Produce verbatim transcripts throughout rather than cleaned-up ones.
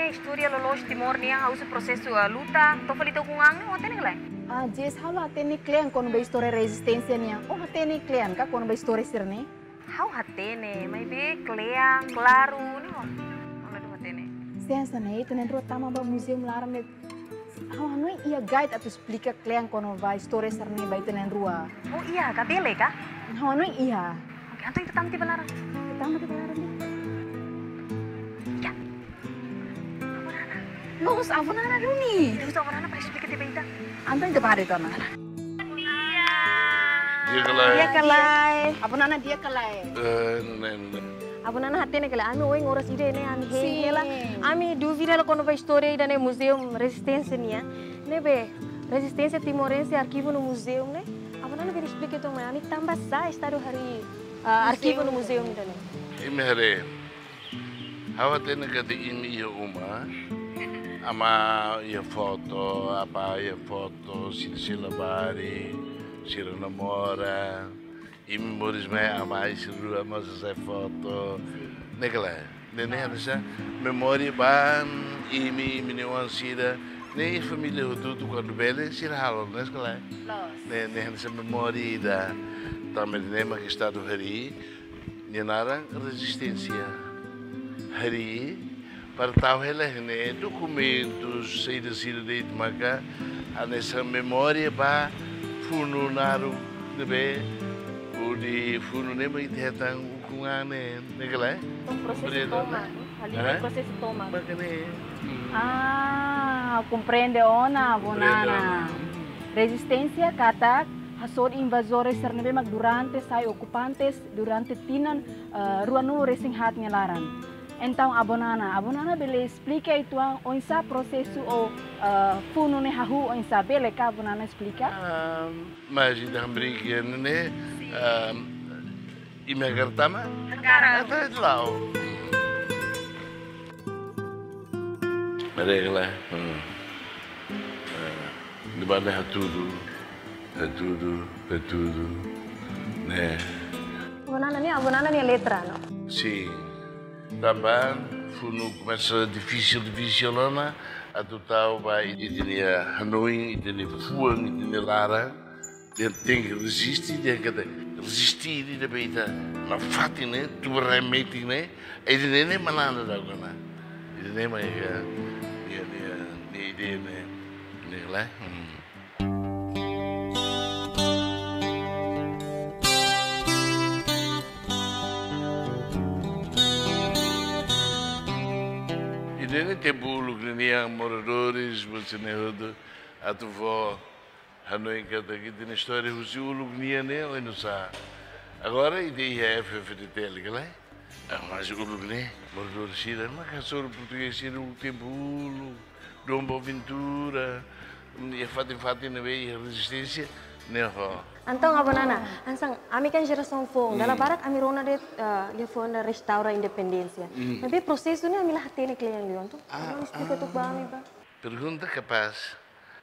Istória loloos Timor nian, ha'u husu prosesu, ah, luta, to'o fali to'o ukun-an ne'e, ó hatene ka lae? Ah, Jess, ha'u la hatene kle'an kona-ba istória rezisténsia nian. Ó hatene kle'an ka kona-ba istória sira-ne'e? Ha'u hatene, maibé kle'an, klaru, ne'e ó. Ha'u la hatene. Sei hanesan ne'e, ita na'in-rua tama ba muzeu laran ne'e. Ha'u hanoin iha guide atu esplika kle'an kona-ba istória sira-ne'e ba ita na'in-rua. Oh, iha ka, bele ka? Ha'u hanoin iha. Oke, entaun ita tama tiha ba laran. Ita tama tiha ba laran, ya. Ya. Avó Nana. Loos, Avó Nana duni. Ita husu Avó Nana para esplika tiha ba ita. Entaun ita bá de'it ona. Di'ak ka lae? Di'ak ka lae? Avó Nana di'ak ka lae? Eh, ne'e, ne'e. Avó Nana hatene ka lae, ami ohin oras ida-ne'e ami hein, sin, hela. Ami dúvida hela kona-ba istória ida-ne'e Muzeu Rezisténsia nian. Ne'ebé, rezisténsia timorense arkivu no muzeu ne'e. Avó Nana bele esplika uitoan mai, ami tanba sá Estadu harii, ah, arkivu no muzeu ida-ne'e? Imi haree. Ha'u hatene katak imi iha uma, amá iha foto, apá iha foto, sira sei labarik, sira namora, imi moris mai, amá sira rua mós hasai foto. Ne'e ka lae? Ne'e, ne'e hanesan memória ba imi, imi-nia oan sira, ne'e família hotu-hotu kuandu bele sira halo, ne'e ka lae? Loos. Ne'e, ne'e hanesan memória ida. Tanba ne'e mak Estadu harii, nia naran rezisténsia. Harii, para tau hela iha ne'e dokumentus, saida sira de'it maka hanesan memória ba funu naruk ne'ebé, hodi funu ne'e mak ita hetan ukun-an ne'e, ne'e ka lae? Entaun prosesu, komprende, tomak, ne'e? Halo, hã? Prosesu tomak. Mak ne'e. Hmm. Ah, komprende ona, Avó Nana. Komprende ona. Rezisténsia katak hasoru invazores sira ne'ebé mak durante sai okupantes durante tinan, eh, ruanulu-resin-haat nia laran. Entaun, Avó Nana, Avó Nana bele esplika uitoan oinsá prosesu ou, eh, funu ne'e hahú oinsá, bele ka Avó Nana esplika? Ah, mas ida hamriik ne'e, sin, ah, imi hakarak tama? Hakarak. Entaun, ita la'o. Mereka lah. Hmm. Eh, di mana hatudu, hatudu, hatudu, ne'e. Avó Nana ne'e, Avó Nana nia letra, no? Sin. Tanba funu komesa difisil, difisil ona, atu tau ba ita-nia hanoin, ita-nia fuan, ita-nia laran. Ita tenke reziste, ita tenke reziste, ita bele ita nafatin ne'e, tuburai metin ne'e, ita ne'e, ne'e manán daudaun ona. Ita ne'e mai ka, nia, nia, nia ideia ne'e, ne'e ka lae. Hmm. Ida-ne'e tempu uluk nian moradores, buat sira-ne'e hotu, atu fó hanoin katak ita-nia istória husi uluk nian ne'e oinsá. Agora ita iha F F D T L ka lae? Ah, mas uluk ne'e, moradór sira, maka hasoru portugés sira uluk tempu uluk, Dom Boaventura, iha fatin-fatin ne'ebé iha rezisténsia ne'e ho. Entaun, Avó Nana, hanesan ami kan jerasaun foun, dala barak ami rona de'it, eh, liafuan restaura independénsia. Hmm. Maibé prosesu ne'e ami la hatene kle'an liu, entaun, ah, Avó Nana esplika, ah, tuir ba ami, bá. Pergunta kapás.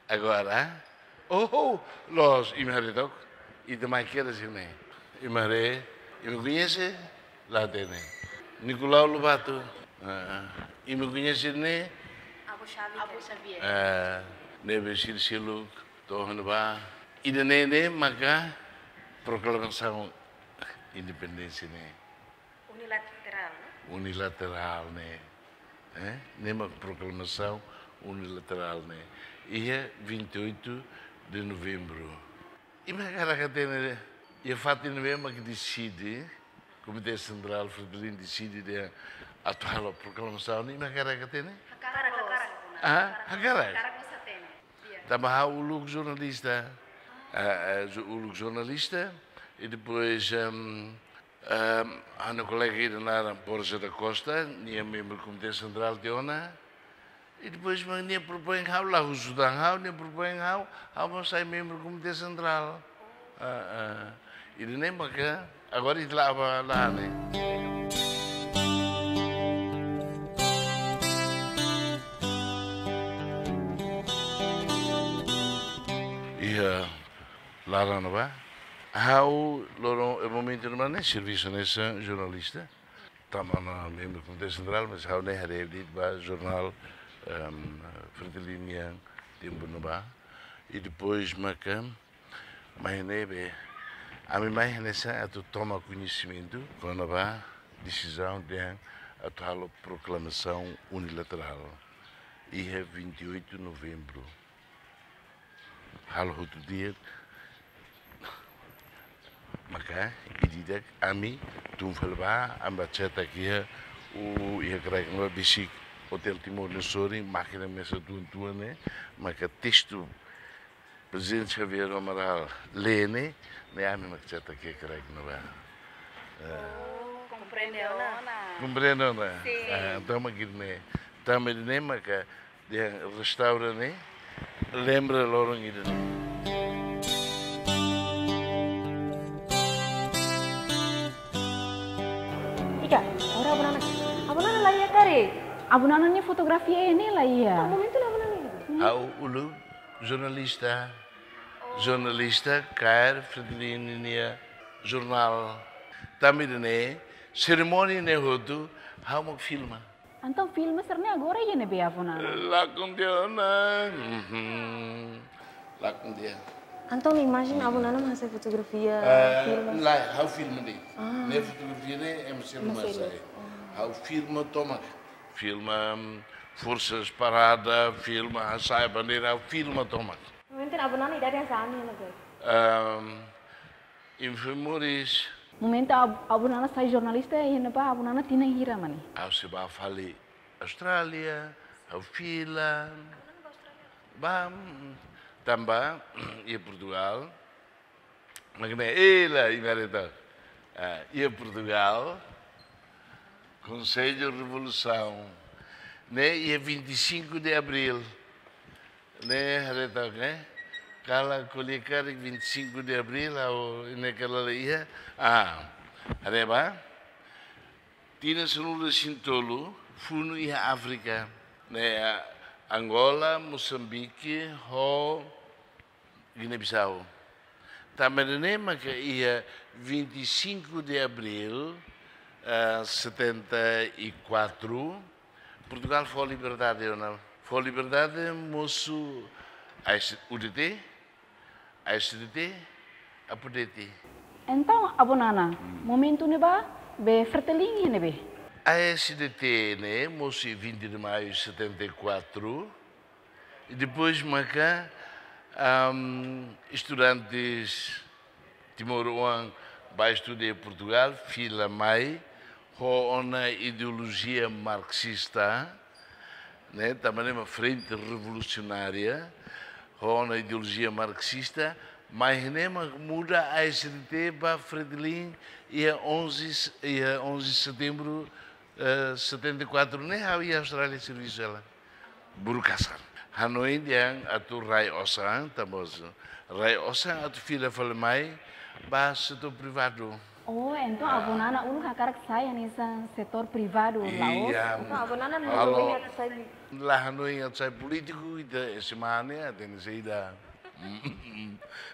Agora, oh, oh, loos, imi haree tok, ita mai kedas iha ne'e. Imi haree, imi koñese, la hatene. Nicolau Lobato, ah, imi koñese ne'e? Avó Xavier. Avó Xavier. Ah, ne'ebé sira seluk to'o ne'ebá. Ida-ne'e ne'e maka proklamasaun independénsia ne'e. Unilaterál, no? Unilaterál ne'e. Eh? Ne'e mak proklamasaun unilaterál ne'e. Iha vinte e oito de novembro. Imi hakarak hatene, iha fatin ne'ebé mak deside, Komité Sentrál Fretilin deside dehan atu halo proklamasaun ne'e, imi hakarak hatene? Hakarak, hakarak. Ah, hakarak? Hakarak mós hatene. Iya. Tanba ha'u uluk jornalista. Ah, ah, jo-, uluk jornalista. I depois, ehm, ehm, ha'u-nia kolega ida naran Borja da Costa, nia membru Komité Sentrál tiha ona. I depois, mas nia propoin ha'u, la husu tan ha'u, nia propoin ha'u, ha'u mós sai membru Komité Sentrál. Ah, ah. Ida-ne'e maka, agora ita la'o ba laran ne'e. Iha laran ne'ebá. Ha'u loron, eh, momentu ne'ebá ne'e servisu hanesan jornalista. Tama ona membru Komité Sentrál, mas ha'u ne'e haree de'it ba jornál, em, Fretilin nian tempu ne'ebá. I depois maka, mai ne'ebé, ami mai hanesan atu toma koñesimentu kona-ba desizaun dehan atu halo proklamasaun unilaterál iha vinte e oito novembru. Halo hotu di'ak, maka ida-idak ami tun fali ba, ami bá cetak iha, o, iha kraik ne'ebá besik Hotel Timor ne'e sorin, mákina mesak tuan-tuan ne'e, maka testu Prezidente Xavier Amaral lee ne'e, ne'e ami mak cetak iha kraik ne'ebá. Eh. Oh, komprende ona. Komprende ona? Sin. Ah, entaun mak ida-ne'e. Tanba ida-ne'e maka dehan restaura ne'e lembra loron ida-ne'e. Ika, ora Abu Nana. Abu Nana la iha karik? Abu Nana nia fotografia ne'e la iha. Ah, momentu ne'e Abu Nana iha. Ha'u uluk jornalista. Jornalista kaer Fretilin nia jornál. Tanba ida-ne'e, serimónia ne'e hotu, ha'u mak filma. Entaun filma sira-ne'e agora iha ne'ebé, Abu Nana? Lakon tiha ona. Mhm. Lakon tiha. Entaun imajen Abu Nana mak hasai fotografia, eh, filma? Lae, ha'u filma de'it. Ah. Ne'e fotografia ne'e ema sira mak hasai. Ha'u filma tomak. Filma, mm, forsas parada, filma hasai bandeira, ha'u filma tomak. Momentu ne'e Abu Nana idade hanesan ami ne'e? Ehm, Info Moris. Momentu Ab-, Abu Nana sai jornalista iha ne'ebá, Abu Nana tinan hira mak ne'e? Ha'u sei bá fali Austrália, ha'u fila. Bá, mm, tanba, iha Portugal. Mak ne'e, ela, iha Mareta. Ah, iha Portugal, Konsellu Revolusaun. Ne'e iha vinte e cinco de Abril. Ne'e haree took, ne'e? Kala ko'alia karik vinte e cinco de Abril, ha'u ne'e kala la iha. Ah, haree bá. Tinan sanulu-resin-tolu, funu iha Áfrika. Ne'e, ah, Angola, Mosambike, ho Guiné-Bissau. Tanba ne'e maka iha vinte e cinco de Abril, eh, setenta e quatro, Portugal fó liberdade ona. Fó liberdade mosu A S, U D T, A S D T, Apo D T. Entaun, Abu Nana, momentu ne'ebá, be Fretilin iha ne'ebé? A S D T ne'e mosu vinte de Maio setenta e quatro, i depois maka, am, estudantes timoroan bá estuda iha Portugal, fila mai, ho ona ideolojia marxista, ne'e, tanba ne'e mak Frente Revolucionária, ho ona ideolojia marxista, mai ne'e mak muda A S D T ba Fretilin iha onze, iha onze de setembro, eh, setenta e quatro, ne'e ha'u iha Austrália servisu hela. Burukasan. Hanoin dehan atu rai osan, tanba rai osan atu fila fali mai ba setór privadu. Oh, entaun Abu Nana uluk hakarak sai hanesan setór privadu, la'ós? Iya. Entaun Abu Nana halo, hanoin atu sai? La hanoin atu sai polítiku, ita ese mane, ita ne'e saida.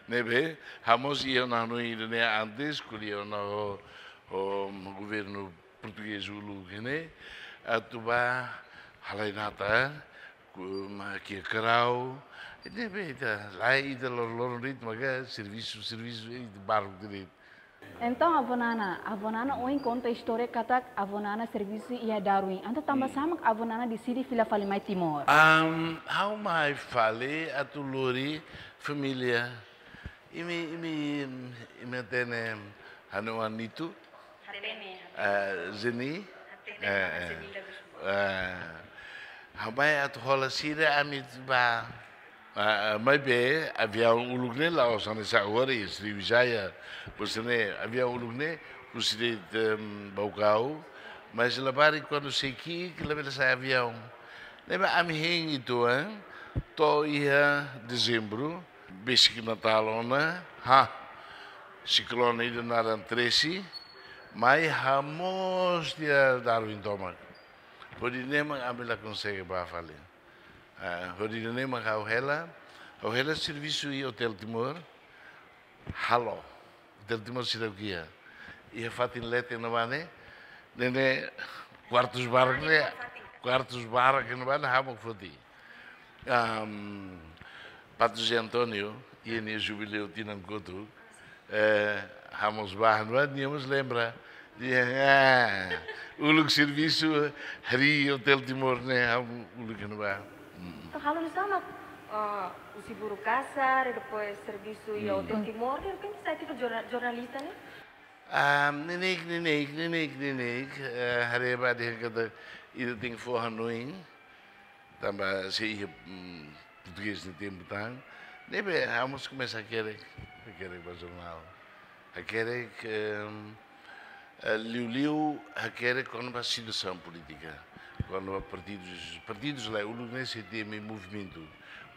Ne'ebé, ha'u mós iha ona hanoin ida-ne'e antes, ko'alia ona ho, ho governu portugés uluk ne'e, atu bá halai natar, ku-, mak kiak karau, ne'ebé ita, lae ita lor-, loron de'it maka servisu, servisu, ita baruk de'it. Entaun, Abu Nana, Abu Nana ohin konta istória katak Abu Nana servisu iha Darwin. Entaun tanba sá mak Abu Nana deside fila fali mai Timor? Am, ha'u mai fali atu lori família. Imi, imi, imi hatene ha'u-nia oan Nito? Hatene, hatene. Ah, Zeni? Hatene, eh, eh. Zeni Lagos. Ah, ha'u mai atu hola sira, ami bá. Ah, ah, maibé aviaun uluk ne'e la'ós hanesan agora iha Sriwijaya. Pois ne'e, aviaun uluk ne'e husi de'it, em, Baucau, mas labarik kuandu sei ki'ik labele sa'e aviaun. Ne'ebé ami hein uitoan, to'o iha Dezembru, besik Natál ona, ha, siklone ida naran Tracy, mai hamoos tiha Darwin tomak. Hodi ne'e mak ami la konsege bá fali. Ah, hodi ne'e mak ha'u hela, ha'u hela servisu iha Hotel Timor, halo, Hotel Timor seidauk iha. Iha fatin leten ne'ebá ne'e, Ne'e ne'e, kuartus barak ne'e, kuartus barak ne'ebá ne'e ha'u mak foti. Am, Padre José António, iha nia jubileu tinan kotuk, eh, ha'u mós bá ne'ebá, nia mós lembra. Nia, ah, uluk servisu harii Hotel Timor ne'e, ha'u uluk ne'ebá. Mm. Entaun, halo nu'usá mak, ah, husi buru kasar, i depois servisu iha, hmm, Hotel Timor, i depois sai tipu jorna-, jornalista ne'e? Ah, neineik, neineik, neineik, neineik, eh, haree ba dehan katak ita tenke fó hanoin, tanba sei iha, mm, portugés nia tempu tan. Ne'ebé, ha'u mós komesa hakerek, hakerek ba jornál. Hakerek, ehm, eh, liuliu hakerek kona-ba situasaun polítika. Kona-ba partidus, partidus la uluk ne'e sei temi movimentu.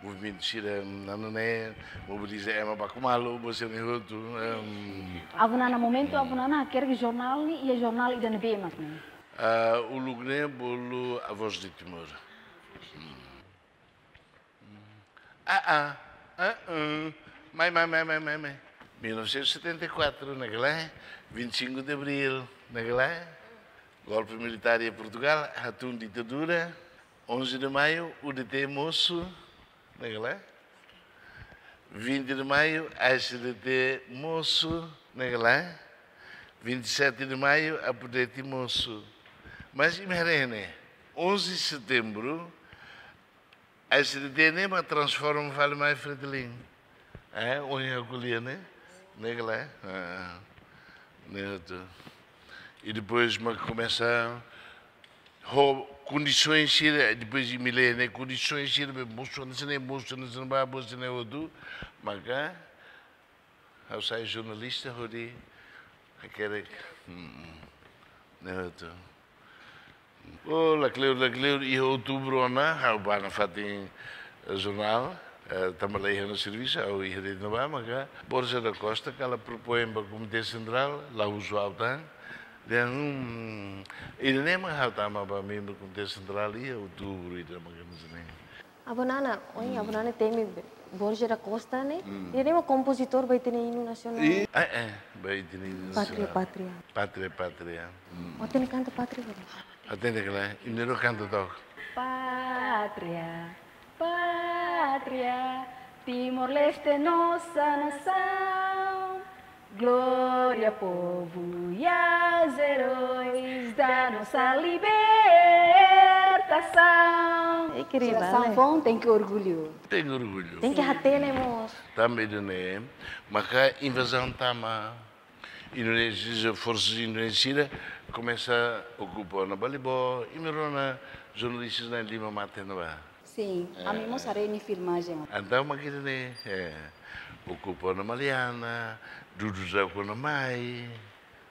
Movimentu sira, mm, anu ne'e, mobiliza ema baku malu, buat sira-ne'e hotu, em. Avó Nana, momentu, hmm, Avó Nana hakerek jornál ne'e, iha jornál ida-ne'ebé mak ne'e? Ah, uluk ne'e bolu A Voz de Timor. Hmm. Ah, ah, ah, ah. Mai, mai, mai, mai, mai, mai. Mil novecentos e setenta e quatro, ne'e ka lae? Vinte e cinco de Abril, ne'e ka lae? Golpe militár em Portugal, hatún ditadura. Onze de Maio, U D T mosu, ne'e ka lae? Vinte de Maio, A S D T mosu, ne'e ka lae? Vinte e sete de Maio, Apodeti mosu. Mas imi haree ne'e, onze de Setembro, A S D T ne'e mak transforma fali mai Fretilin. Eh, ohin ha'u ko'alia ne'e, ne'e ka lae? Ah, ne'e hotu. I depois mak komesa ho kondisoens sira, depois imi lee ne'e, kondisoens sira be mosu hanesan ne'e, mosu hanesan ne'ebá, mosu hanesan ne'e hotu, maka ha'u sai jornalista hodi hakerek, mm, mm, ne'e hotu. Oh, lakleur, lakleur, iha outubru ona, ha'u bá nafatin, eh, jornál, eh, tanba la iha ona servisu, ha'u iha de'it ne'ebá, maka Borja da Costa, kala propoin ba Komité Sentrál, la husu ha'u tan, dehan, hmm, ida-ne'e mak ha'u tama ba membru Komité Sentrál iha outubru ida mak hanesan ne'e. Avó Nana, ohin, hmm, Avó Nana temi be-, Borja da Costa ne'e, hmm, nia ne'e mak kompozitór ba ita-nia inu nasionál. I, eh, eh, ba ita-nia inu nasionál. Pátria, Pátria. Pátria, Pátria. Hmm. Ó hatene kanta Pátria, bro? Hatene ka lae, imi rua kanta took. Pátria, pátria, Timor-Leste nossa nação. Glória, povo, e aos heróis da nossa libertação. Ei, querida, jerasaun, né? Foun tenke orgullu. Tenke orgullu. Tenke hatene mós. Tanba ida-ne'e, maka invazaun tama. Indonézia, forsas Indonézia komesa okupa ona Balibó, imi rona jornalista na'in-lima mate ona ba. Sin, eh, ami mós haree nia filmajen. Entaun mak ida-ne'e, eh, okupa ona Maliana, dudu daudaun ona mai.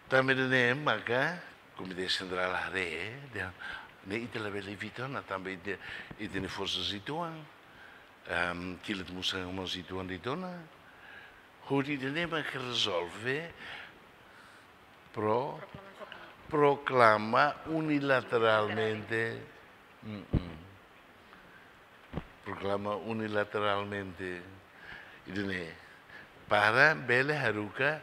Tanba ida-ne'e maka Komité Sentrál haree, dehan, ne'e ita labele evita ona, tanba ita, ita-nia forsas uitoan, ehm, kilat musan mós uitoan de'it ona. Hodi ida-ne'e mak rezolve pro-, proklama unilateralmente. Mm-mm. Proklama unilateralmente ida-ne'e. Para bele haruka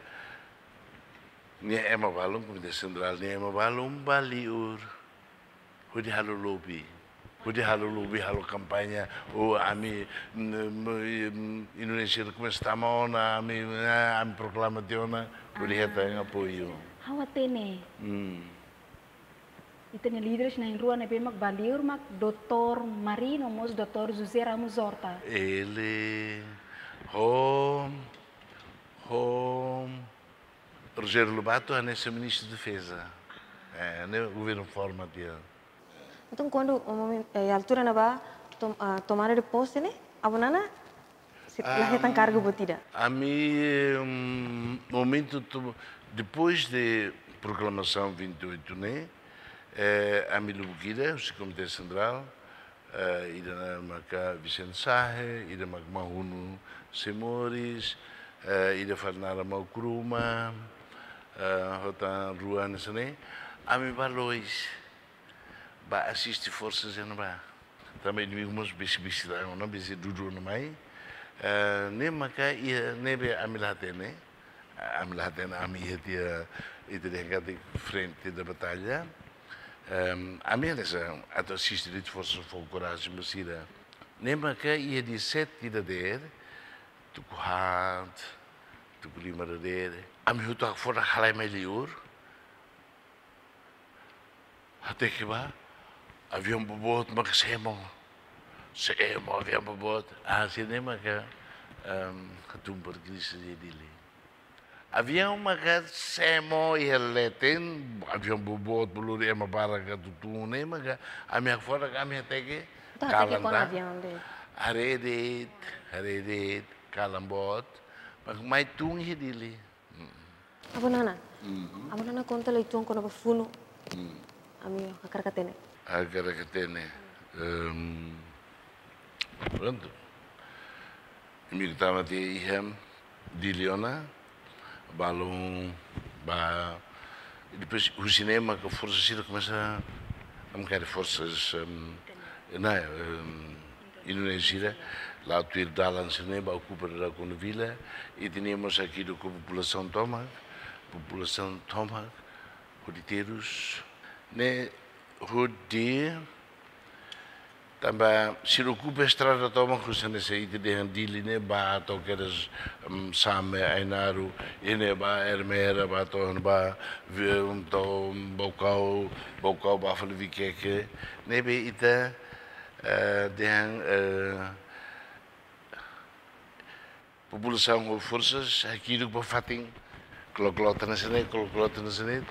nia ema balun, Komité Sentrál nia ema balun bá liur. Hodi halo lobby. Hodi halo lobby, halo kampaña. Oh, ami, mm, mm, Indonézia komesa tama ona, ami, ah, ami proklama tiha ona. Hodi, ah, hetan apoiu. Ha'u hatene. Hmm. Ita-nia líderes na'in-rua ne'ebé mak bá liur mak doutór Mari no mós doutór José Ramos Horta. Ele, ho, ho, Rogério Lobato hanesan Ministru Defeza. Eh, ne'e governu forma tiha. Entaun, kuandu, o momen-, eh, altura ne'ebá tom-, ah, tomada de posse ne'e, Avó Nana sei la hetan kargu buat ida? Ami, hum, momentu to-, depois de proklamasaun vinte e oito ne'e, eh, ami lubuk ida, husi Komité Sentrál, eh, ida-ne'e maka Vicente Sahe, ida maka Mahunu Semoris, eh, ida fali naran Maukruma, eh, ho tan rua hanesan ne'e, ami bá loos, bá asiste forsa sira ne'ebá. Tanba inimigu mós besik-besik tan ona, besik dudu ona mai. Eh, ne'e maka iha ne'ebé ami la hatene, Ami la hatene ami iha tiha, ita dehan katak frente da batalha. Em, ami hanesan atu asiste de'it forsa foun korajen ba sira. Ne'e maka iha dia sete dadeer, tuku haat, tuku lima dadeer, ami hotu hakfodak halai mai liur. Hateke ba, aviaun boboot maka semo. Semo aviaun boboot. Ah, sira-ne'e maka, em, hatún para krisis iha Dili. Aviaun maka semo iha leten, aviaun boboot, bolu ema barak atu tun ne'e maka, ami hakfodak, ami hateke, Entaun, hateke kalan kona tan. Aviaun de'it. Haree de'it, haree de'it, kalan boot, maka mai tun iha Dili. Avó Nana. Mhm. Avó Nana konta lai uitoan kona-ba funu. Mhm. Ami hakarak hatene. Hakarak hatene. Em, prontu. Imi kutama tiha iha Dili ona, balun ba, e depois husi ne'e maka forsa sira komesa, ami kari forsas, em, na, em, Indonézia, la tuir dalan sira-ne'e ba okupa dadaun kona vila, i ita-nia mós hakidu ho populasaun tomak, populasaun tomak, hodi terus, ne'e hodi tanba sira okupa estrada tomak, husi ne'e se ita dehan Dili ne'e ba to'o kedas, em, Same, Ainaro, i ne'e ba Ermera, ba to'o ba, vi-, em, to'o Baucau, Baucau ba fali Viqueque, ne'ebé ita, eh, dehan, eh, populasaun ho forsas hakidu ba fatin, klok-klok hanesan ne'e, klok-klok hanesan ne'e,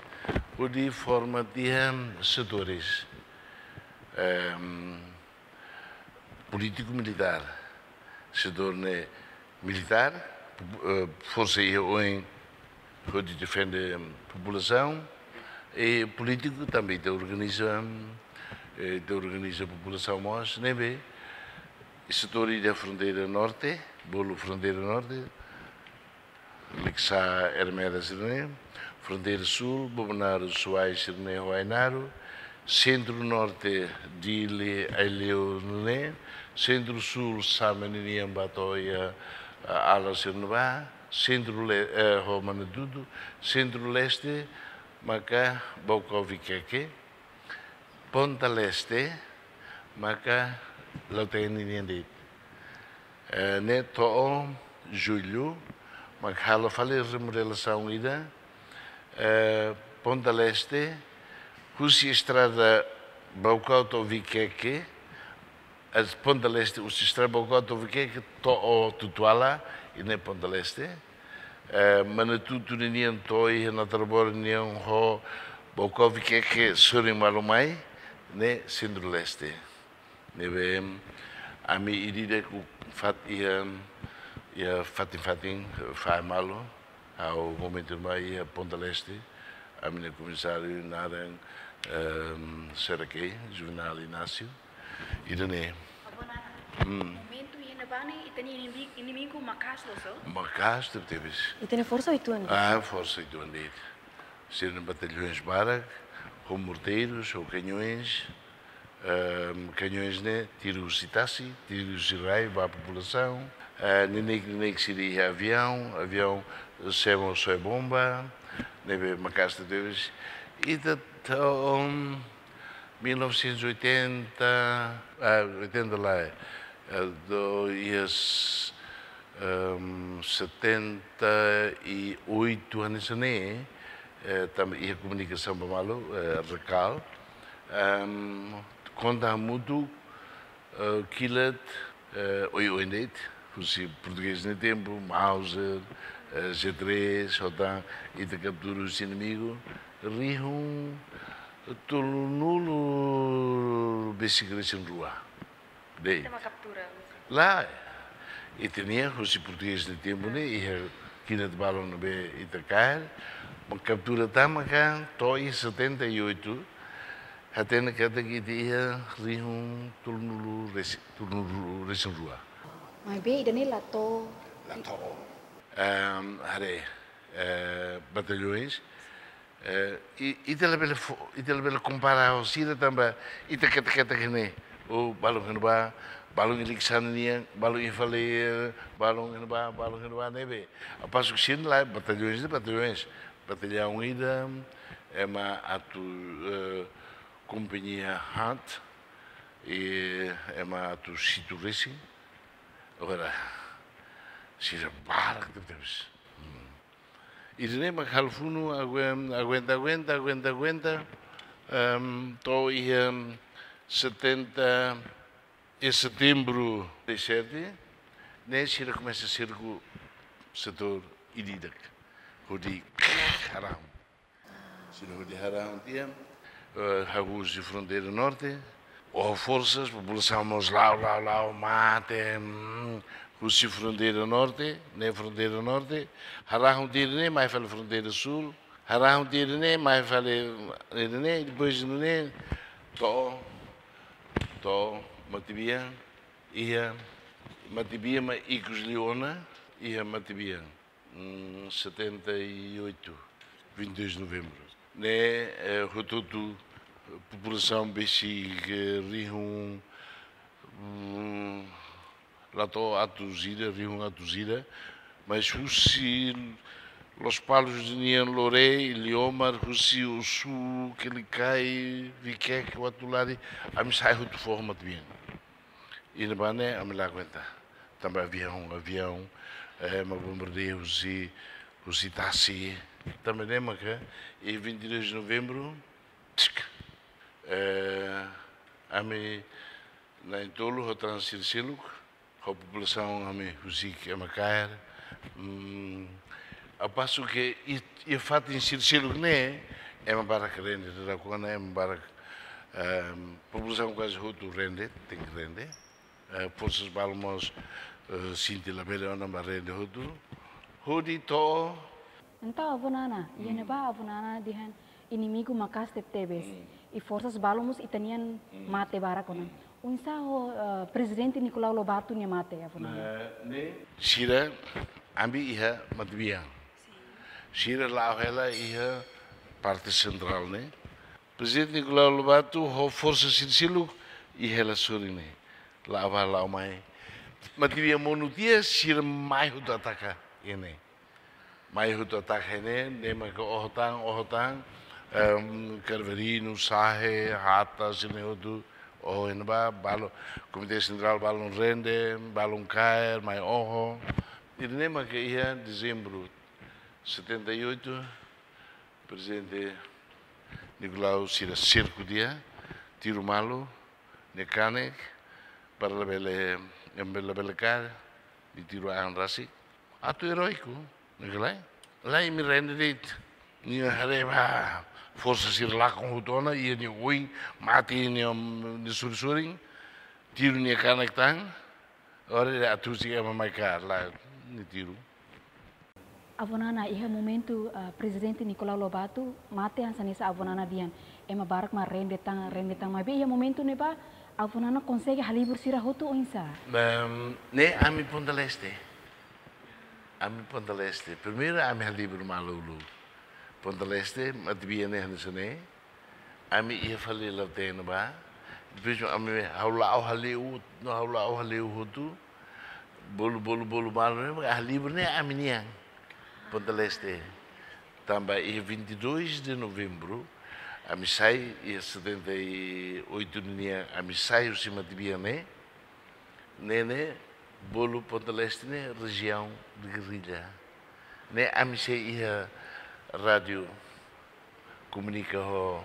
hodi forma tiha setores, em, polítiku militár, setór ne'e militár, eh, forsa iha oin hodi defende populasaun, i polítiku tanba ita organiza, eh, ita organiza populasaun mós, ne'ebé setór iha fronteira norte, bolu fronteira norte, Likisá, Ermera sira-ne'e, fronteira súl, Bobonaro, Suai sira-ne'e, ho Ainaro, sentru norte, Dili, Aileu ne'e, sentru súl, Same ninian ba to'o iha, eh, Ala sira-ne'ebá, sentru le-, eh, ho Manatutu, sentru leste, maka Baucau Viqueque, ponta leste, maka Lautém ninian de'it. Eh, ne'e to'o Jullu, maka halo fali remodelasaun ida, eh, ponta leste, husi estrada Baucau to'o Viqueque, es ponta leste, husi estrada Baucau to'o Viqueque, to'o Tutuala, i ne'e ponta leste. Eh, Manatutu ninian to'o iha Natarbora nian ho Baucau Viqueque sorin malu mai, ne'e sentru leste. Ne'ebé ami ida-idak fat iha, iha fatin-fatin, fahe malu, ha'u momentu mai iha ponta leste, ami-nia komisáriu naran, em, Serakei, Juvenal Inácio, ida-ne'e. Avó Nana. Hmm. Momentu iha ne'ebá ne'e, ita-nia inimi-, inimigu maka'as loos, so? Maka'as tebetebes. Ita-nia forsa uitoan de'it. Ah, forsa uitoan de'it. Sira-nia batalhões barak, ho morteiros, ho canhões, ehm, canhões ne'e, tiru husi tasi, tiru husi rai, ba populasaun, eh, neineik, neineik sira iha aviaun, aviaun semo soe bomba, ne'ebé maka'as tebes. Ita to'o mil novecentos e oitenta, ah, oitenta lae, eh, do, iha s-, ehm, setenta e oito hanesan ne'e, eh, tanba iha komunikasaun ba malu, eh, RECAL, ehm, konta hamutuk, eh, kilat, eh, oioin de'it, husi portugés nia tempu, Mauser, eh, G três, ho tan, ita kaptura husi inimigu, rihun tolunulu besik resin rua. De'it. Ita mak kaptura, maksudnya? Lae, ita-nia, husi portugés nia tempu ne'e, iha kilat balun ne'ebé ita kaer, mak kaptura tan maka, to'o iha setenta e oito, hatene katak ita iha rihun tolunulu resi-, tolunulu resin rua. Maibé ida-ne'e la to'o. La to'o. Ehm, haree, eh, batalhões, eh, i-, ita labele fo-, ita labele kompara ho sira tanba ita ketak-ketak ne'e, o balun iha ne'ebá, balun iha Likisá nian, balun iha fali, eh, balun iha ne'ebá, balun iha ne'ebá ne'ebé. Ao passo que sira-ne'e la'ós batallaoens, batallaoens. Batallaun ida ema atu, eh, kompañia haat, i ema atu situ resin. Agora, sira barak tebetebes. Hmm. Ida-ne'e mak halo funu, aguen-, aguenta, aguenta, aguenta, aguenta, em, to'o iha setenta, iha setembru de sete, ne'e sira komesa serka setór ida-idak. Hodi harahun. Sira hodi harahun tiha, eh, hahú husi fronteira norte, oho forsas, populasaun mós la'o, la'o, la'o, mate, mm, husi fronteira norte, ne'e fronteira norte, harahun tiha ne'e, mai fali fronteira sul, harahun tiha ne'e, mai fali, ne'e, depois ne'e, to'o, to'o, Matebian, iha, Matebian mak ikus liu ona, iha Matebian. Hum, setenta e oito, vinte e dois de novembro. Ne'e, eh, hotu-hotu populasaun besik, eh, rihun, hum, la to'o atus ida, rihun atus ida, mas husi Lospalos nian, Lore, Iliomar, husi Osu, Quelicai, Viqueque, Uatulari, ami sa'e hotu foho Matebian. Iha ne'ebá ne'e ami la aguenta. Tanba aviaun, aviaun, eh, ema bombardeia husi, husi tasi. Tanba ne'e maka, iha vinte e dois de novembro, tsk, eh, ami na'in-tolu ho tan sira seluk, ho populasaun ami husik ema kaer. Mm, ao passo que i-, iha fatin sira seluk ne'e, ema barak rende, dada kona ema barak, ehm, populasaun kuaze hotu rende, tenke rende. Eh, forsas balun mós, eh, sente labele ona ba rende hotu. Hodi to'o. Entaun, avó Nana, iha ne'ebá avó Nana dehan inimigu maka'as tebetebes. Mm. I forsas balun mós ita-nian mate barak ona. Mm. Oinsá ho, eh, Prezidente Nicolau Lobato nia mate, avó Nana? Ne'e, ne'e. Sira, ami iha Matebian. Sira la'o hela iha parte sentrál ne'e. Prezidente Nicolau Lobato ho forsa sira seluk iha hela sorin ne'e. La'o bá, la'o mai. Matebian monu tiha, sira mai hotu ataka iha ne'e. Mai hotu ataka iha ne'e, ne'e maka oho tan, oho tan, em, Carverino, Sahe, Hata, sira-ne'e hotu, oho iha ne'ebá, balun, Komité Sentrál balun rende, balun kaer, mai oho. Ida-ne'e maka iha dezembru setenta e oito, Prezidente Nicolau sira serku tiha, tiru malu, nia kanek, para labele, ema labele kaer, nia tiru an rasik. Atu eróiku, ne'e ka lae? Lae, imi rende de'it. Nia haree ba forsa sira lakon hotu ona, iha nia oin, mate nia, nia sorin-sorin, tiru nia kanek tan, agora atu husik ema mai kaer, lae, nia tiru. Avó Nana, iha momentu, ah, Prezidente Nicolau Lobato mate, hanesan ne'e avó Nana dehan, ema barak mak rende tan, rende tan. Maibé iha momentu ne'ebá, avó Nana konsege halibur sira hotu oinsá? Em, ne'e ami Ponta Leste. Ami Ponta Leste. Primeiru ami halibur malu uluk. Ponta Leste, Matebian ne'e hanesan ne'e. Ami iha fali laut-teen ne'ebá. Depois ami ha'u la'o hale'u, no ha'u la'o hale'u hotu. Bolu, bolu, bolu malu ne'e, halibur ne'e ami-nian. Ponta Leste. Tanba iha vinte e dois de novembro, ami sai, iha setenta e oito nian, ami sai husi Matebian ne'e. Ne'e, ne'e, bolu Ponta Leste ne'e rejiaun de gerrilla. Ne'e ami sei iha rádiu komunika ho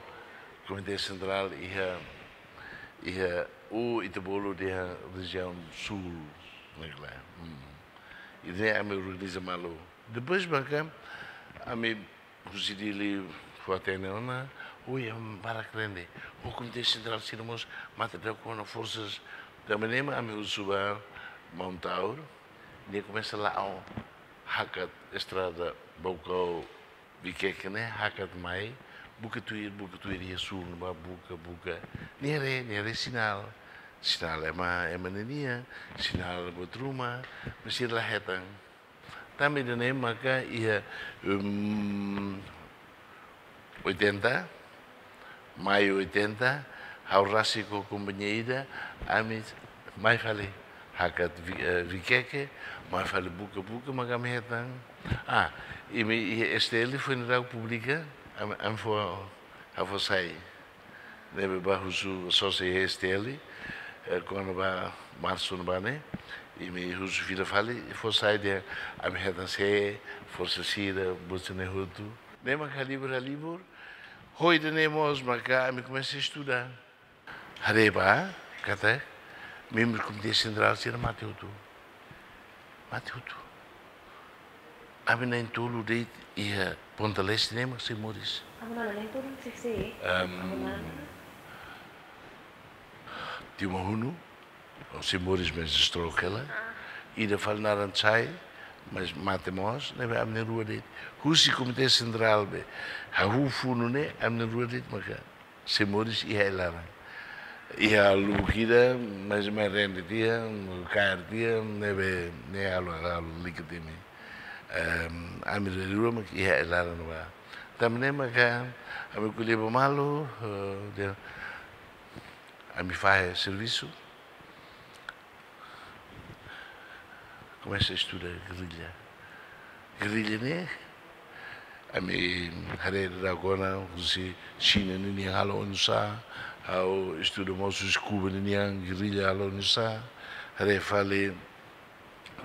Komité Sentrál iha, iha, o ita bolu dehan rejiaun súl, ne'e ka lae. Hmm. I ne'e ami organiza malu. Depois maka ami husi Dili fó-hatene ona, oi, ema barak rende. Ho Komité Sentrál sira mós mate dada kona forsas. Tanba ne'e mak ami husu ba maun Taur, nia komesa la'o hakat estrada Baucau Viqueque ne'e, hakat mai, buka tuir, buka tuir iha súl ne'ebá, buka, buka. Nia haree, nia haree sinál. Sinál ema, ema ninian, sinál buat ruma, maibé sira la hetan. Tanba ida-ne'e maka iha, em, oitenta, maiu oitenta, ha'u rasik ho kompañia ida, ami Mai fali hakat vi-, eh, vikeke, mai fali buka-buka, maka ami hetan. Ah, imi iha S T L foin daudauk publika, ami, ami fó, ha'u fó sai. Ne'ebé bá husu sira iha S T L, eh, kona-ba marsu ne'ebá ne'e, imi husu fila fali, fó sai dehan ami hetan sé, forsa sira, buat sira-ne'e hotu. Ne'e maka halibur, halibur, ho ida-ne'e mós maka ami komesa estuda. Haree ba, katak, membru Komité Sentrál sira mate hotu. Mate hotu. Ami na'in-tolu de'it iha Ponta Leste ne'e mak sei moris. Ami na'in-tolu sei sei. Em, ami na'in-tolu. Tiu Mahunu, sei moris mas stroke hela. Ah. Ida fali naran Chai, mas mate mós, ne'ebé ami na'in-rua de'it. Husi Komité Sentrál be, hahú funu ne'e, ami na'in-rua de'it maka sei moris iha ai-laran. Iha lubuk ida, mas mai rende tiha, kaer tiha, ne'ebé, ne'e halo, halo lalika temi. Em, ami na'in-rua mak iha ai-laran ne'ebá. Tanba ne'e maka, ami ko'alia ba malu, eh, dehan, ami fahe servisu. Komesa estuda gerrilla. Gerrilla ne'e, ami haree daudauk ona, husi Xina ninian halo oinsá, ha'u estuda mós husi Kuba ninian gerrilla halo oinsá, haree fali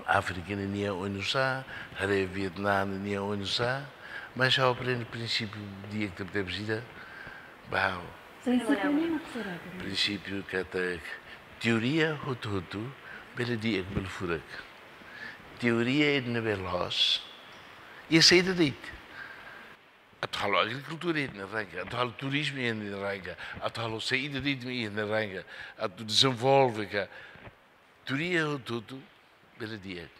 Áfrika ninian oinsá, haree Vietname ninian oinsá, mas ha'u aprende prinsípiu di'ak tebetebes ida, ba ha'u. Prinsípiu ne'e mak saida? Prinsípiu katak teoria hotu-hotu bele di'ak, bele furak. Teoria ida ne'ebé loos, iha saida de'it. Atu halo agrikultura iha nia rai ka, atu halo turizmu iha nia rai ka, atu halo saida de'it iha nia rai ka, atu dezenvolve ka. Teoria hotu-hotu bele di'ak.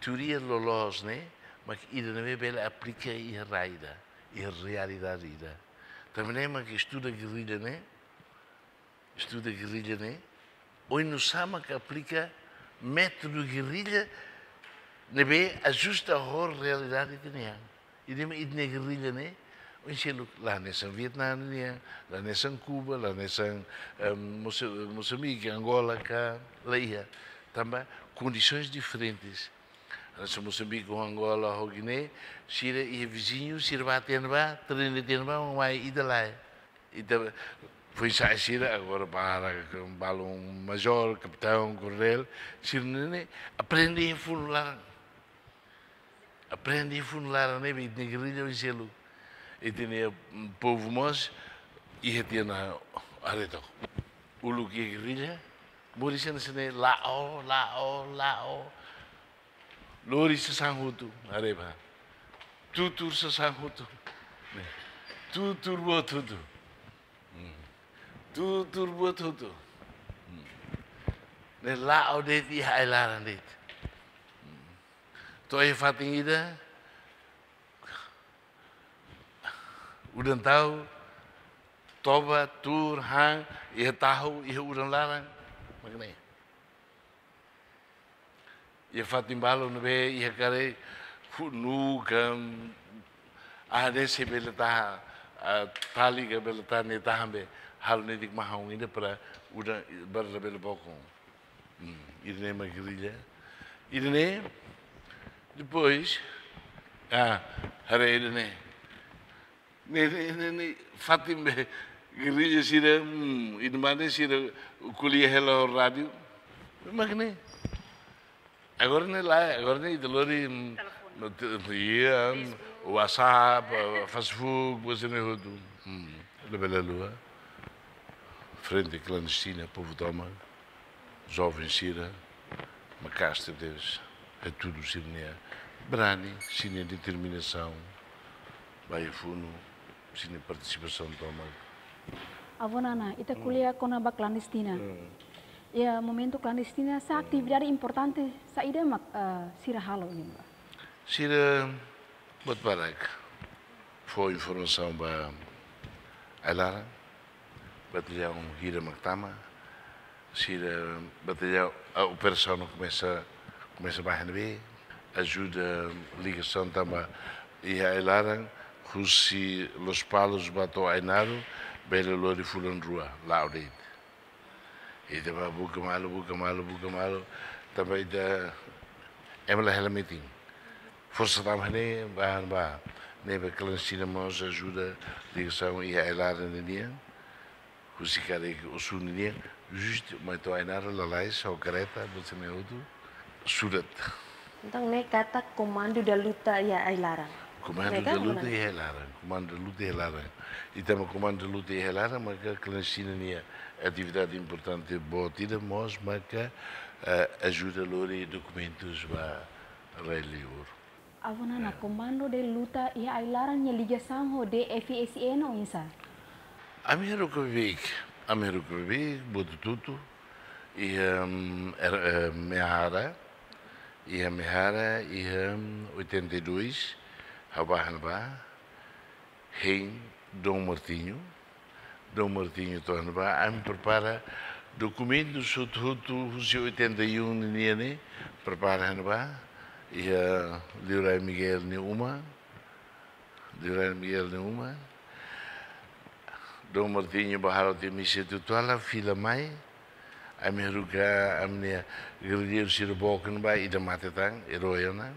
Teoria loloos ne'e mak ida ne'ebé bele aplika iha rai ida, iha realidade ida. Tanba ne'e mak estuda gerrilla ne'e, estuda gerrilla ne'e, oinsá mak aplika métodu gerrilla ne'ebé ajusta ho realidade ida-ne'e. Ida-ne'e, ida-ne'e gerrilla ne'e, oinsá loos, la hanesan Vietname nian, la hanesan Kuba, la hanesan, em, Moça-, Moçambique, Angola ka, la iha. Tanba kondisoens diferentes. Hanesan Moçambique ho Angola ho Guiné, sira iha viziñu, sira bá tiha ne'ebá, treina tiha ne'ebá, mai ida lae. Ita foin-sa'e sira, agora para, balun majór, kapitaun, koronél, sira-ne'e aprende iha funu laran. Aprende iha funu laran ne'ebé ita-nia gerrilla oinsá loos. Ita-nia, mm, povu mós, iha tiha ona haree took. Uluk iha gerrilla, moris hanesan ne'e, la'o, la'o, la'o. Lori sasán hotu, haree ba. Tutur sasán hotu. Tutur buat hotu. Hmm. Tutur buat hotu. Hmm. Ne'e la'o de'it iha ai-laran de'it. Hmm. To'o iha fatin ida, udan tau, toba, tuur, han, iha tahu, iha udan laran. Mak ne'e. Iha fatin balu ne'ebé iha karik, hu-, nuu ka, ah, ne'e sei bele tahan, ah, tali ka bele tahan, ne'e tahan be, halo netik mahon ida para udan, para labele bokon. Hmm, ida-ne'e mak gerrilla. Ida-ne'e, depois, ah, haree ida-ne'e. Ne'e, ne'e, ne'e, ne'e, fatin be gerrilla sira, hmm, ida-ne'e sira ko'alia hela ho rádiu. Mak ne'e. Agora ne'e lae, agora ne'e ita lori, hmm, telefone. No te-, iya, hmm, Facebook. WhatsApp, eh, Facebook, buat sira-ne'e hotu. Hmm. Labele haluha. Frente klandestina, povu tomak. Joven sira, maka'as tebes, hatudu sira-nia brani, sira-nia determinasaun, ba iha funu, sira-nia partisipasaun tomak. Avó Nana, ita, hmm, ko'alia kona-ba klandestina. Hmm. Iha momentu klandestina, sá, hmm, atividade importante saida mak, eh, sira halo nian ba? Sira buat barak. Fó informasaun ba ai-laran, batallaun hira mak tama, sira batallaun, ah, operasaun komesa, komesa ba iha ne'ebé, ajuda ligasaun tanba iha ai-laran, husi Lospalos ba to'o Ainaro, bele lori fulan rua, la'o de'it. Ita bá buka malu, buka malu, buka malu. Tanba ita ema la hela metin. Forsa tama ne'e, bá, bá. Ne'ebé klandestina mós ajuda ligasaun iha ai-laran ninian. Husi karik Osu ninian, justu mai to'o Ainara lalais, ho kareta, buat sira-ne'e hotu, surat. Entaun, ne'e katak Comando da Luta iha ai-laran. Comando da Luta iha ai-laran, Comando da Luta iha ai-laran. Ita-nia Comando da Luta iha ai-laran, maka klandestina nia atividade importante boot ida mós, maka, eh, ajuda lori dokumentus ba rai liur. Avó Nana, Comando da Luta iha ai-laran nia ligasaun ho D F S N oinsá? Ami haruka beibeik, ami haruka beibeik, buat hotu-hotu, iha, mm, er-, eh, Mehara, iha Mehara, iha, mm, oitenta e dois, ha'u bá iha ne'ebá, hein Dom Martinho, Dom Martinho to'o iha ne'ebá, ami prepara dokumentus hotu-hotu husi oitenta e um ninian ne'e, prepara iha ne'ebá, iha Liurai Miguel nia uma, Liurai Miguel nia uma. Dom Martinho bá halo tiha misa tutuala, fila mai, ami haruka, ami-nia gerrilleiru sira book iha ne'ebá, ida mate tan, erói ona.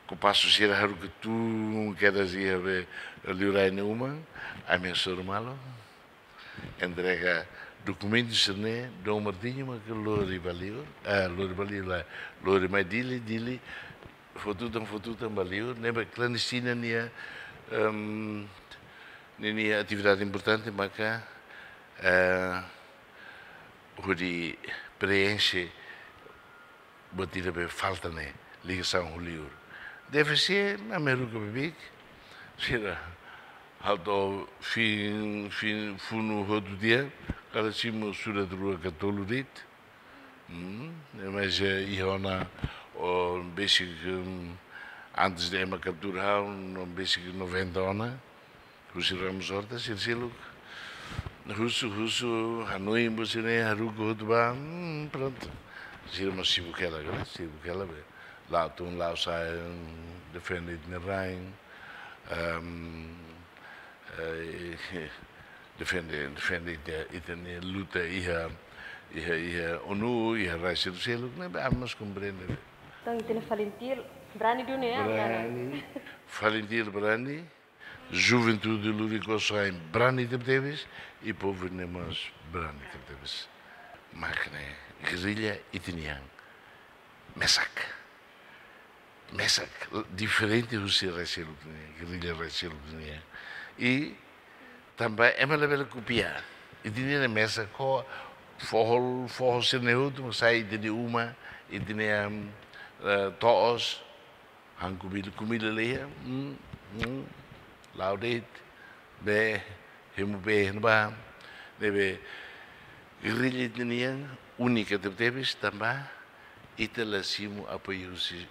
Kompasu sira haruka tun kedas iha be Liurai nia uma, ami hasoru malu. Entrega dokumentu sira-ne'e, Dom Martinho maka lori ba liur, eh, lori ba liur lae, lori mai Dili, Dili, fó tutan, fó tutan ba liur, ne'ebé klandestina nia, em, ninia atividade importante maka, eh, hodi preenxe buat ida be falta ne'e, ligasaun ho liur. D F S N, ami haruka beibeik, sira halo fin, fin, funu hotu tiha, kada simu surat rua ka tolu de'it. Hmm, mas, eh, iha ona, o, besik, hum, antes de ema kaptura ha'u, no besik noventa ona. Husi Ramos Horta, sira seluk. Husu, husu, hanoin buat sira-ne'e, haruka hotu bá, hmm, prontu. Sira mós sibuk hela, kan? Sibuk hela be. La'o tun, la'o sa'e, defende ita-nia rain. Ehm, eh, defende, defende ita, ita-nia luta iha, iha, iha ONU, iha rai sira seluk, ne'ebé ami mós komprende be. Entaun, ita-nia Falintil, brani duni, ya, Nana? Brani. Falintil brani. Juventude Luri Kosoain brani tebetebes, i povu ne'e mós brani tebetebes. Mak ne'e, gerrilla ita-nian mesak. Mesak, diferente husi rai seluk nian, gerrilla rai seluk nian. I tanba ema labele kopia. Ita-nian mesak ho foho, foho sira-ne'e hotu, mak sai ita-nia uma, ita-nia, eh, to'os, han kumida, kumida laiha, hmm, hmm, la'o de'it, bee, hemu bee iha ne'ebá, ne'ebé gerrilla ita-nian únika tebetebes tanba ita la simu apoiu husi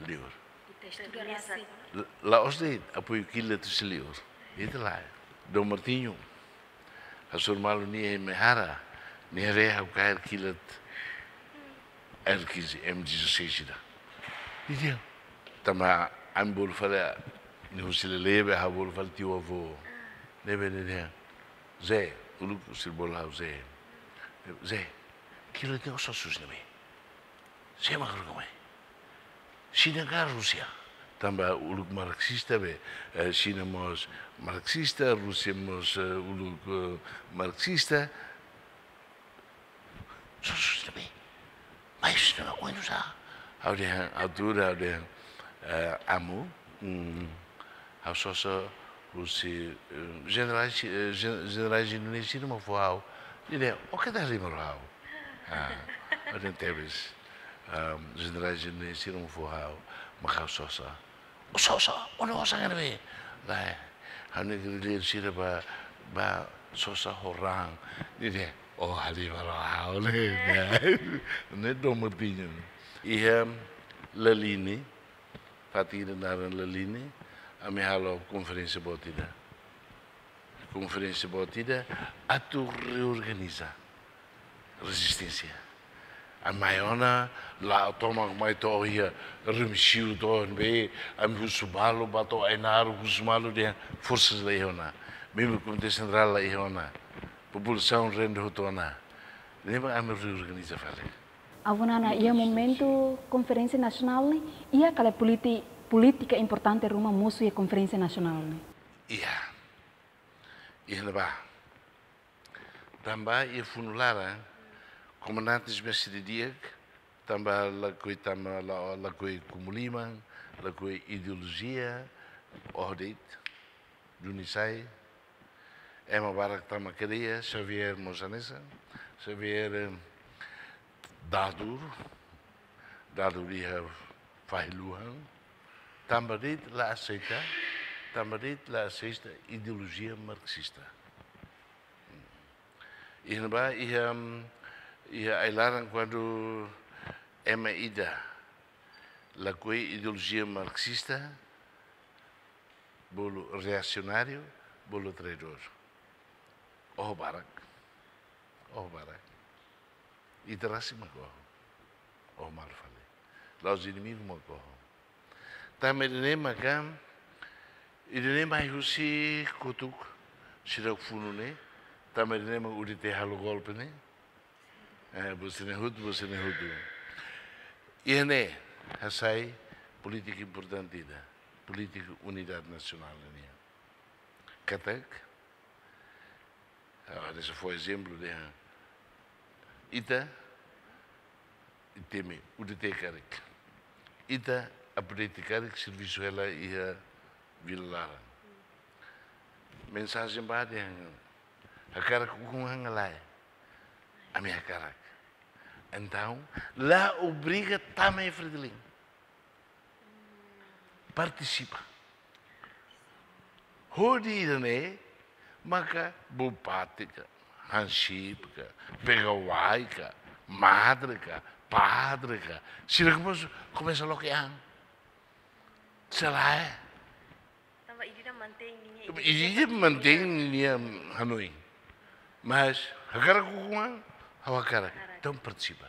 liur. Ita estuda rasik. La, la'ós de'it apoiu kilat husi liur. Ita lae. Dom Martinho hasoru malu nia iha Mehara, nia haree ha'u kaer kilat R quinze, M dezasseis ida. Nia dehan, tanba ami bolu fali, nia husi Lelebe, ha'u bolu fali tiu-avó. Ne'ebé nia dehan, Zé, uluk sira bolu ha'u Zé. Zé, kilat ne'e ó sosa husi ne'ebé? Sé mak haruka mai? Xina ka Rúsia? Tanba uluk marxista be, eh, Xina mós marxista, Rúsia mós, eh, uluk, eh, marxista. Sosa husi ne'ebé? Mai husi ne'ebé, oin nusá? Ha'u dehan, ha'u tuur, ha'u dehan, eh, Amu, mm, ha'u sosa husi, eh, jenerál, eh, jen-, jenerál Indonézia mak fó ha'u. Nia dehan, ó keta halimar ho ha'u. Ah, ha'u dehan tebes. Ah, jenerál Indonézia mak fó ha'u, mak ha'u sosa. Ó sosa, ó-nia osan iha ne'ebé? Lae, ha'u-nia gerrillairu sira bá, bá sosa ho raan. Nia dehan, ó halimar ho ha'u ne'e. Ne'e Dom Martinho. Iha Laline, fatin ida naran Laline, ami halo konferénsia boot ida. Konferénsia boot ida atu reorganiza rezisténsia. Ami mai ona, la'o tomak mai to'o iha Remexio to'o ne'ebé, ami husu malu, bá to'o Ainaro, husu malu dehan forsa la iha ona. Membru Komité Sentrál la iha ona. Populasaun rende hotu ona. Ne'ebé ami reorganiza fali. Avó Nana, iha momentu konferénsia nasionál ne'e, iha kala politi-, polítika importante ruma mosu iha konferénsia nasionál ne'e? Iha. Iha ne'ebá. Tanba iha funu laran, komandante mestre di'ak, tanba lakohi, tanba la, lakohi kumu liman, lakohi ideolojia, oho de'it, duni sai, ema barak tama kedas, Xavier mós hanesan, Xavier, eh, dadur, dadur iha fahi luhan, tanba de'it la aseita, tanba de'it la aseita ideolojia marxista. Iha ne'ebá, iha, iha ai-laran kuandu ema ida lakohi ideolojia marxista, bolu reasionáriu, bolu traidór. Oho barak. Oho barak. Ita rasik mak oho. Oho malu fali. La'ós inimigu mak oho. Tanba ida-ne'e maka, ida-ne'e mai husi kotuk sira funu ne'e, tanba ida-ne'e mak U D T halo golpe ne'e. Eh, buat sira-ne'e hotu, buat sira-ne'e hotu. Iha ne'e, hasai polítika importante ida, polítika unidade nasionál nian. Katak, ah, hanesan fó ezemplu dehan, ita, ita temi, U D T karik. Ita, update karik, servisu hela iha Vila Laran. Mensajen ba dehan, hakarak ukun-an ka lae. Ami hakarak. Entaun, la obriga tama iha Fretilin. Partisipa. Hodi ida-ne'e, maka bupati ka, hansip ka, pegawai ka, madre ka, padre ka, sira komesa, komesa loke an. Se lae. Tanba ida-idak mantein ninia, ida-idak mantein ninia hanoin. Mas, hakarak ukun-an, ha'u hakarak. Hakarak. Entaun partisipa.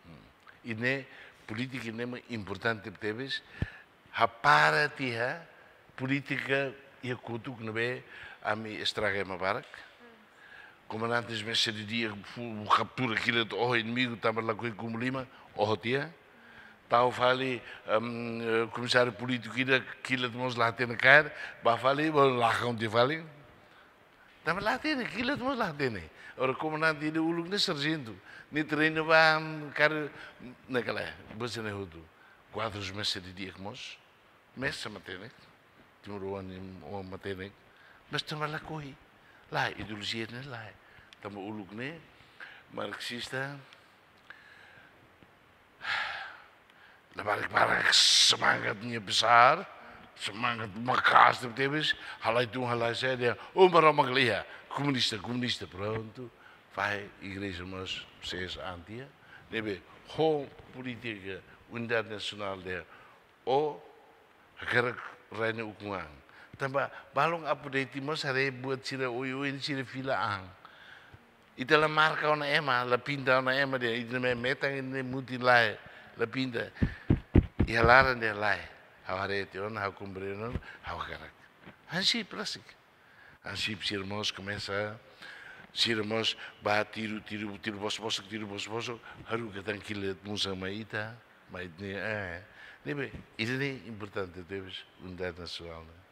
Hmm. Ida-ne'e polítika ne'e importante tebes, hapara tiha polítika iha kotuk ne'ebé ami estraga ema barak. Komandante mestre di'ak fu-, kaptura kilat, oho inimigu tanba lakohi kumu liman, oho tiha. Tau fali, em, eh, komisáriu polítiku ida kilat mós la hatene kaer, bá fali, bá lakon tiha fali. Tanba la hatene, kilat mós la hatene. Agora komandante ida uluk ne'e sarjentu, nia treinu ba, em, kaer ne'e ka lae, buat sira-ne'e hotu. Kuadrus mestre di'ak mós. Mesak matenek, timoroan nia matenek, mas tanba lakohi. Lae, ideolojia ne'e lae. Tanba uluk ne'e, marxista, labarik barak semangat nia besar, semangat maka'as tebetebes, halai tun, halai sa'e dehan, oh, Maromak la iha, komunista, komunista, prontu, fahe igreja mós ses antia, ne'ebé, ho polítika unidade nasionál dehan, ó hakarak rai nia ukun-an. Tanba balun update mós haree buat sira oioin sira fila an. Ita la marka ona ema, la pinta ona ema dehan, ita-nia metan ne'e mutin lae, la pinta. Iha laran dehan lae. Ha'u haree tiha ona, ha'u komprende ona, ha'u hakarak. Hansip rasik. Hansip sira mós komesa, sira mós bá tiru, tiru, tiru bosok-bosok, tiru bosok-bosok, haruka tan kilat musa mai ita, mai ne'e, eh. Ne'ebé, ida-ne'e importante tebes, unidade nasionál ne'e.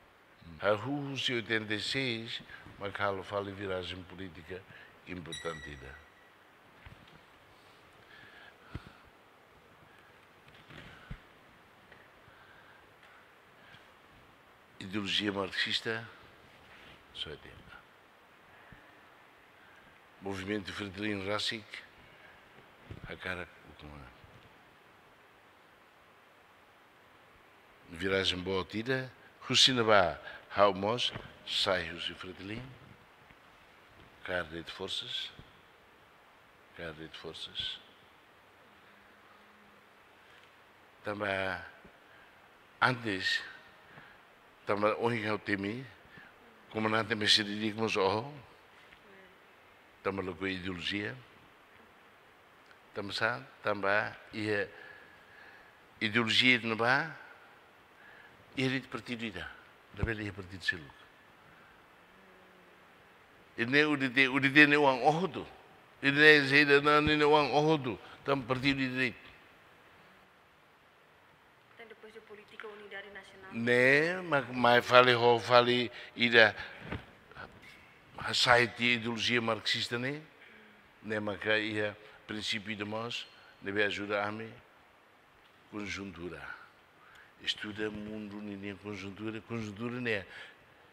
Hahú husi oitenta e seis, mak halo fali virajen polítika importante ida. Ideolojia marxista, só é tempo. Movimentu Fretilin rasik, hakarak ukun-an. Virajen boot ida, husi ne'ebá ha'u mós sai husi Fretilin, kaer de'it forsas, kaer de'it forsas. Tanba antes, tanba ohin ha'u temi, komandante mestre di'ak mós oho, tanba lakohi ideolojia, tanba sá, tanba iha ideolojia ne'ebá, iha de'it partidu ida, labele iha partidu seluk. Ida-ne'e U D T, U D T ne'e oan hotu. Ida-ne'e saida, ne'e oan hotu. Tanba partidu ida de'it. Entaun, depois de polítika unidade nasionál? Ne'e, mak, mai fali ho fali ida, hasai tiha ideolojia marxista ne'e. Ne'e maka iha prinsípiu ida mós, ne'ebé ajuda ami. Konjuntura. Estuda mundu ninian konjuntura, konjuntura ne'e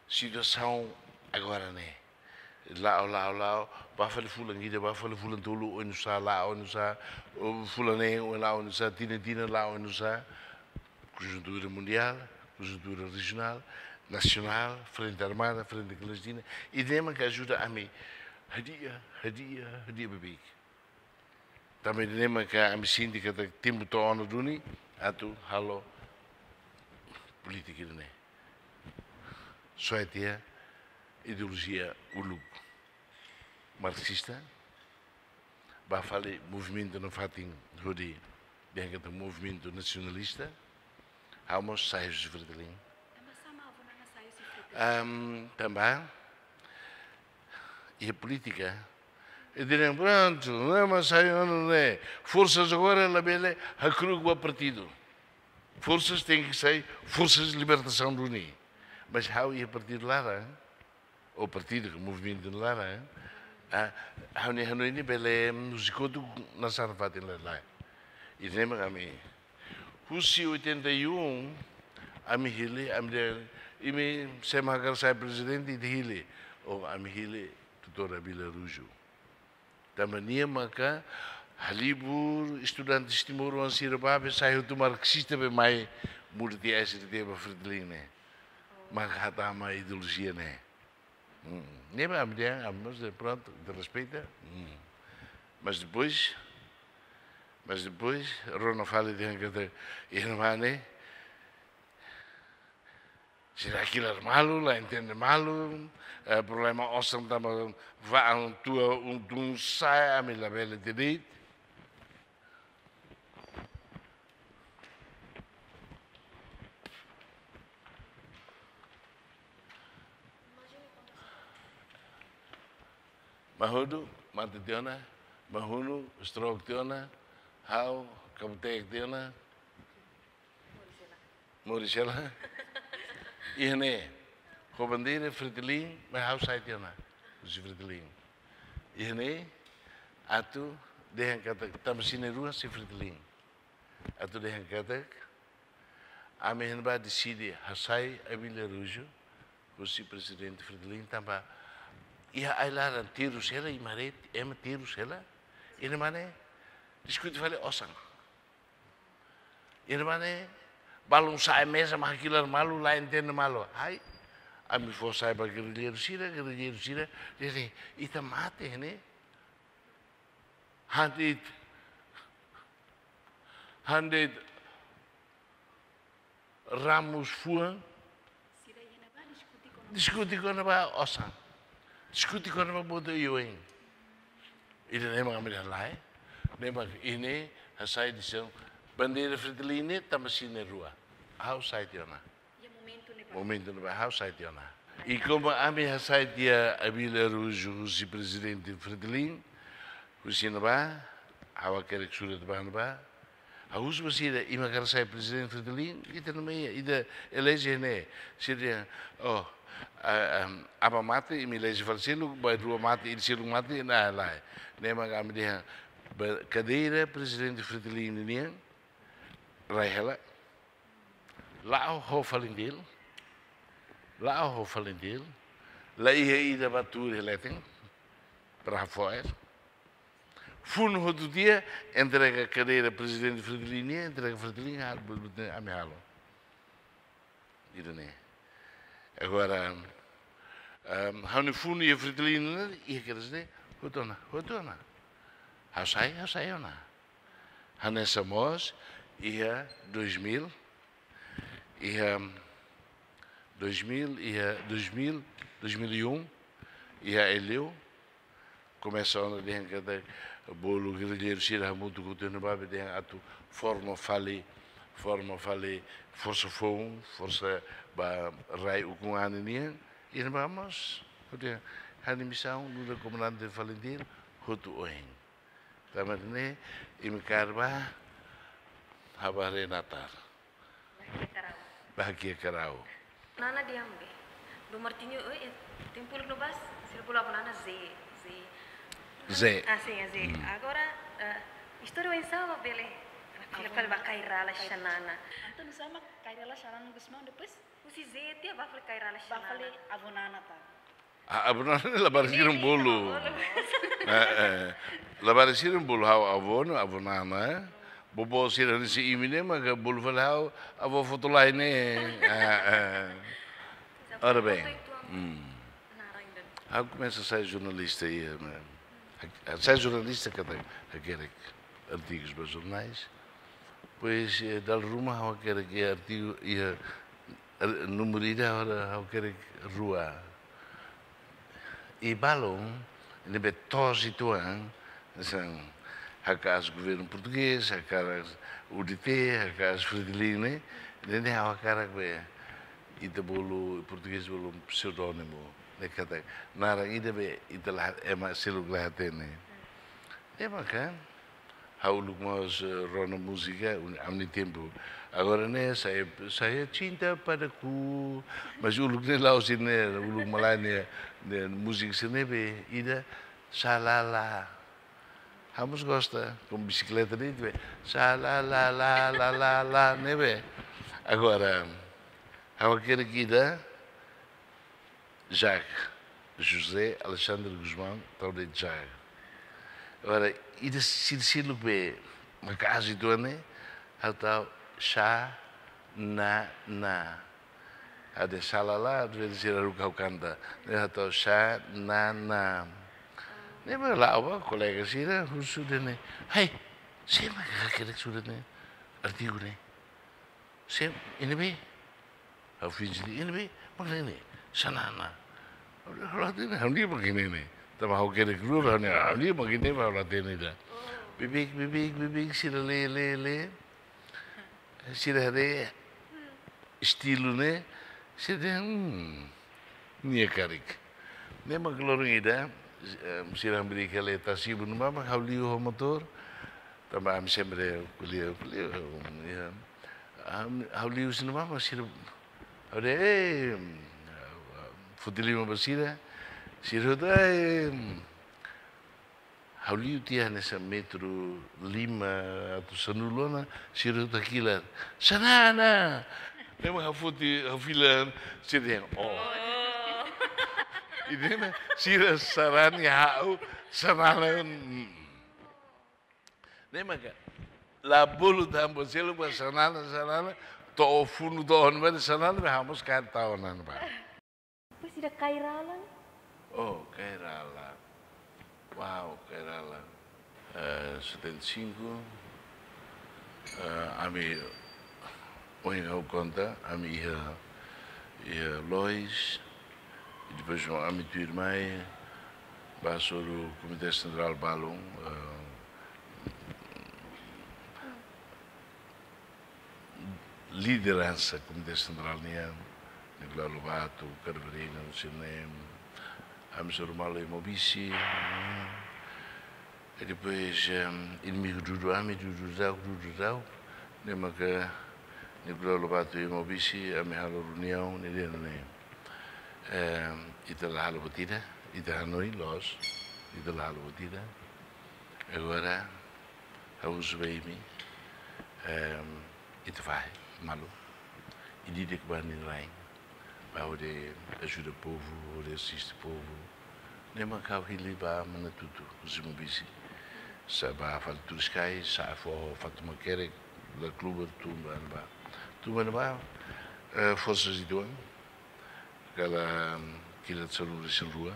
situasaun agora ne'e. La'o, la'o, la'o, bá fali fulan ida, bá fali fulan tolu, oinsá la'o, oinsá, o fulan neen, o la'o, oinsá, tinan, tinan, la'o, oinsá. Konjuntura mundiál, konjuntura rejionál, nasionál, frente armada, frente klandestina. Ida-ne'e mak ajuda ami hadi'a, hadi'a, hadi'a bebeik. Tanba ida-ne'e maka ami sente katak tempu to'o ona duni atu halo polítika ida-ne'e. Soe tiha ideolojia uluk marxista, bá fali movimentu nafatin hodi dehan katak movimentu nasionalista, ha'u mós sai husi Fretilin. Tanba sá mak avó Nana sai husi Fretilin? Am, tanba, iha polítika, ida-ne'e prontu, ne'e mak sai ona ne'e. Forsas agora labele hakru'uk ba partidu. Forsas tenke sai, forsas libertasaun duni. Mas ha'u iha partidu laran, ou partidu, movimentu laran, ah, ha'u-nia hanoin ne'e bele, mm, husi kotuk nasaun fatin lae. Ida-ne'e mak ami, husi oitenta e um, ami hili, ami dehan, imi sé mak hakarak sai prezidente, ita hili. Oh, ami hili doutór Abílio Araújo. Tanba nia maka halibur estudante timoroan sira ba be sai hotu marxista be mai muda tiha S D T ba Fretilin ne'e. Maka hatama ideolojia ne'e. Hmm. Ne'e ba ami dehan, ami mós dehan prontu, ita respeita. Hmm. Mas depois, mas depois, rona fali dehan katak, iha ne'ebá ne'e, sira hakilar malu, la entende malu, eh, problema osan tanba fa'an tua un tun sa'e, ami labele de'it. Mahudu, mate tiha ona, Mahunu, stroke tiha ona, ha'u, kabutek tiha ona. Moris hela. Iha ne'e, ho bandeira Fretilin, mas ha'u sai tiha ona, husi Fretilin. Iha ne'e, atu dehan katak, tanba sira na'in-rua sei Fretilin. Atu dehan katak, ami iha ne'ebá deside hasai Abílio Araújo husi prezidente Fretilin tanba iha ai-laran terus hela, imi haree, ema terus hela, iha ne'ebá ne'e diskute fali osan. Iha ne'ebá ne'e balun sa'e meza mak hakilar malu, la entende malu. Hai, ami fó sai ba gerrilleiru sira, gerrilleiru sira dehan ita mate ne'e. Han de'it, han de'it ramos fuan. Sira iha ne'ebá diskute kona-ba, diskute kona-ba osan. Diskute kona-ba boot oioin. Ida-ne'e mak ami dehan lae. Ne'e mak ida-ne'e hasai desizaun bandeira Fretilin ne'e tanba sira na'in-rua. Ha'u sai tiha ona. Iha momentu ne'ebá. Momentu ne'ebá ha'u sai tiha ona. I komu ami hasai tiha Abílio Araújo husi prezidente Fretilin, husi ne'ebá, ha'u hakerek surat ba ne'ebá. Ha'u husu ba sira, imi hakarak sai prezidente Fretilin, ita-nia mehi, ita eleje ne'e. Sira dehan, oh, a, a, aban mate, imi eleje fali seluk, ba rua mate, imi seluk mate, ne'e lae. Ne'e mak ami dehan, ba kadeira prezidente Fretilin nian, rai hela. La'o ho FALINTIL, la'o ho FALINTIL, la iha ida ba tuur iha leten, para hafo'er. Funu hotu tiha, entrega kadeira prezidente Fretilin nian, entrega Fretilin, hal, bu-, bu-, ami halo. Ida-ne'e. Agora, ehm, ha'u-nia funu iha Fretilin ne'e, iha kedas ne'e, hotu ona, hotu ona. Ha'u sai, ha'u sai ona. Hanesan mós, iha dois mil, iha dois mil, iha dois mil, dois mil e um, iha Aileu, komesa ona dehan katak bolu gerrilleiru sira hamutuk hotu iha ne'ebá be dehan atu forma fali, forma fali forsa foun, forsa ba rai ukun-an nian, iha ne'ebá mós, hotu iha, Ha'u-nia misaun nu'udar komandante Falintil hotu oin. Tanba ne'e, imi kaer bá, ha'u bá haree natar. Bakia Karau. Bakia Karau. Nana diam be. Dom Martinho, eh, eh, tempu uluk no bas, sira bolu avó Nana Zé, Zé. Zé. Ah, sim, é Zé. Hmm. Agora, eh, istória oinsá mak bele fila fali ba Kay Rala Xanana. Entaun, oinsá mak Kay Rala Xanana Gusmão, depois? Husi Zé tiha bá fali Kay Rala Xanana. Bá fali avó Nana, tá? Ah, avó Nana ne'e labarik sira bolu. Bolu. Eh, eh. Labarik sira bolu ha'u avó, no avó Nana, eh. Bobo sira ne'e, se imi ne'e maka bolu fali ha'u avó Fotolai ne'e. Eh, eh. Ora bem. Hmm. Ha'u komesa sai jornalista iha, eh, sai jornalista katak hakerek artigus ba jornais. Depois, eh, dala ruma ha'u hakerek iha artigu, iha, eh, númeru ida, agora ha'u hakerek rua. I balun ne'ebé toos uitoan, hanesan, hakaas governu portugés, hakaas U D T, hakaas Fretilin ne'e, ne'e ha'u hakarak be, ita bolu, portugés bolu pseudónimu, ne'e katak naran ida be ita la, ema seluk la hatene. Ne'e maka ha'u uluk mós, eh, rona múzika, un-, ami-nia tempu. Agora ne'e, Saya, Saya Cinta Padaku. Mas uluk ne'e la'ós ne'e, uluk malae ne'e, ne'e múzika sira ne'ebé, ida, Xalala. Ha'u mós gosta, ho bisikleta ne'e, be. Xalala, la, la, la, la, ne'ebé. Agora, ha'u hakerek ida, Jacques, José Alexandre Gusmão, tau de'it Jacques. Agora, ida sira seluk be, maka azi tuan ne'e, ha'u tau Xanana. Ha'u dehan Xalala, às vezes sira haruka ha'u kanta, ne'e ha'u tau Xanana. Ne'e mak la'o ba, kolega sira, husu dehan ne'e, "Hei, sé mak hakerek surat ne'e, artigu ne'e?" Sé, ne'ebé? Ha'u finje dehan, ne'ebé? Mak ne'e, Xanana. Ha'u la hatene, ha'u-nia mak ne'e. Tanba ha'u hakerek rua, ha'u-nia, ha'u-nia mak ne'e, ha'u la hatene ida. Beibeik, beibeik, beibeik, sira lee, lee, lee. Sira haree estilu ne'e, sira dehan, hmm, nia karik. Ne'e mak loron ida, eh, sira hamriik hela iha Tasibu ne'ebá, mak ha'u liu ho motór, tanba ami sempre ko'alia, ko'alia, um, ya. Am, ha'u liu husi ne'ebá mak sira, ha'u dehan, eh, foti liman ba sira, sira hotu, eh, ha'u liu tiha hanesan metru lima atu sanulu ona, sira hotu hakilar, "Xanana!" Ne'e mak ha'u foti, ha'u fila, sira dehan, "Oh." Oh. Ida ne'e mak sira sarani ha'u, Xanana, mm. Ne'e maka, la bolu tan buat seluk ba Xanana, Xanana, to'o funu to'o ne'ebá, Xanana, be ha'u mós kaer tau ona ne'ebá. Depois ida Kay Rala? Oh, Kay Rala. Uau, Kay Rala. Eh, setenta e cinco, eh, ami, ohin ha'u konta, ami iha, iha Lois, i depois ami tuir mai, bá hasoru Komité Sentrál balun, eh, lideransa Komité Sentrál nian, Nicolau Lobato, Carverina, Lucinem, ami hasoru malu iha Maubisse, i depois, em, inimigu dudu ami, dudu daudauk, dudu daudauk, ne'e maka Nicolau Lobato iha Maubisse, ami halo reuniaun, ne'e dehan ne'e, em, ita la halo buat ida, ita hanoin loos, ita la halo buat ida. Agora, ha'u husu ba imi, em, ita fahe malu. Ida-idak ba nia rain. Ba hodi ajuda povu, hodi asiste povu. Ne'e mak ha'u hili ba Manatutu, husi Maubisse. Sa'e ba fali Turiscai, sa'e foho Fatumakerek, La Kluber, tun ba ne'ebá. Tun ba ne'ebá, eh, forsa uitoan. Kala, mm, kilat sanulu-resin-rua,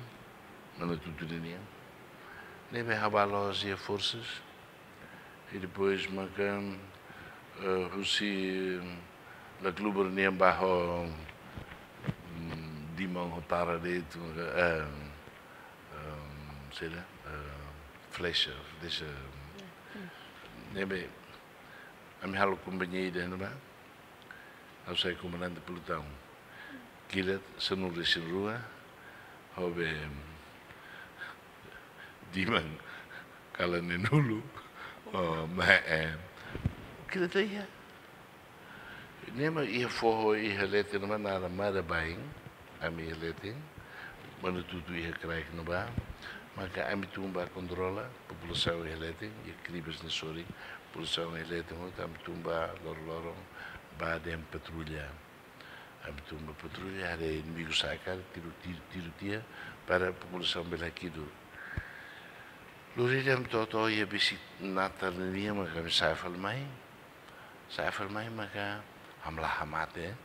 Manatutu ninian. Ne'ebé ha'u bá loos iha forsas. I depois maka, eh, husi, mm, La Kluber nian bá ho, mm, Dimon ho Tara de'it, eh, eh, saida, eh, Flecha, Flecha. Ne'ebé, ami halo kompañia ida ne'ebá. Ha'u sai komandante pelutaun. Kilat sanulu-resin-rua, ha'u be, Diman, kala nenulu. Oh, ma, eh. Kita tu ya. Ne'e mak iha foho iha leten mak naran Marabain, ami iha leten, Manatutu iha kraik ne'ebá, maka ami tun ba kontrola populasaun iha leten, iha Kribas nia sorin, populasaun iha leten hotu, ami tun ba loroloron, ba dehan patrulla. Ami tun ba patrulla, haree inimigu sa'e karik, tiru, tiru, tiru tiha, para populasaun bele hakidu. Lori ami to'o, to'o iha besik natar nian maka ami sa'e fali mai. Sa'e fali mai maka ami la hamate.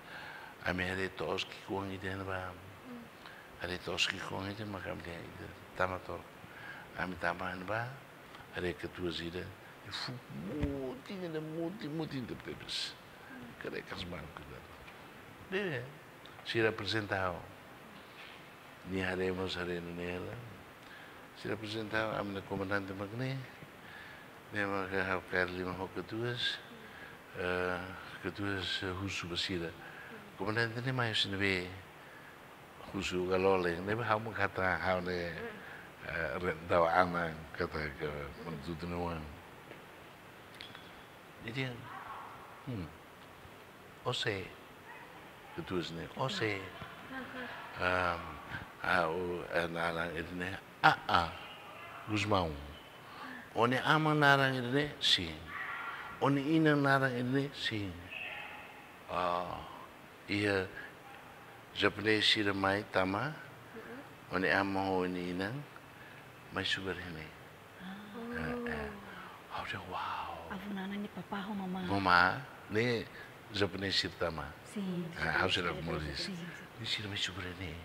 Ami haree to'os ki'ikoan ida ne'ebá. Haree to'os ki'ikoan ida maka ami dehan ida tama to'ok. Ami tama ne'ebá. Haree katuas ida. Fuuk mutin ida, mutin, mutin tebetebes. Karik kas banku ida. Bebe, sira aprezenta ha'u. Nia haree mós haree nune'e hela. Sira aprezenta ha'u, ami-nia komandante mak ne'e. Ne'e maka ha'u kaer liman ho katuas. Eh, katuas, eh, husu ba sira. Komandante ne'e mai husi ne'ebé? Husu Galoleng. Ne'ebé ha'u mak hatán ha'u ne'e, eh, re-, dau anan katak Manatutu nia oan. Jadi, hmm. Ó sé? Katuas ne'e, ó sé? Am, ha'u, eh, naran ida-ne'e, Aa, Gusmão. Ó-nia aman naran ida-ne'e? Sin. Ó-nia inan naran ida-ne'e? Sin. Ah, iha japonés sira mai tama, ó-nia aman ho ó-nia inan, mai subar iha ne'e. Ah. Eh, eh. Ha'u dehan, wow. Avó Nana nia papá ho mamá. Mamá, ne'e japonés sira tama. Sin. Ah, ha'u seidauk moris. Sin, sin. Ne'e sira mai subar iha ne'e.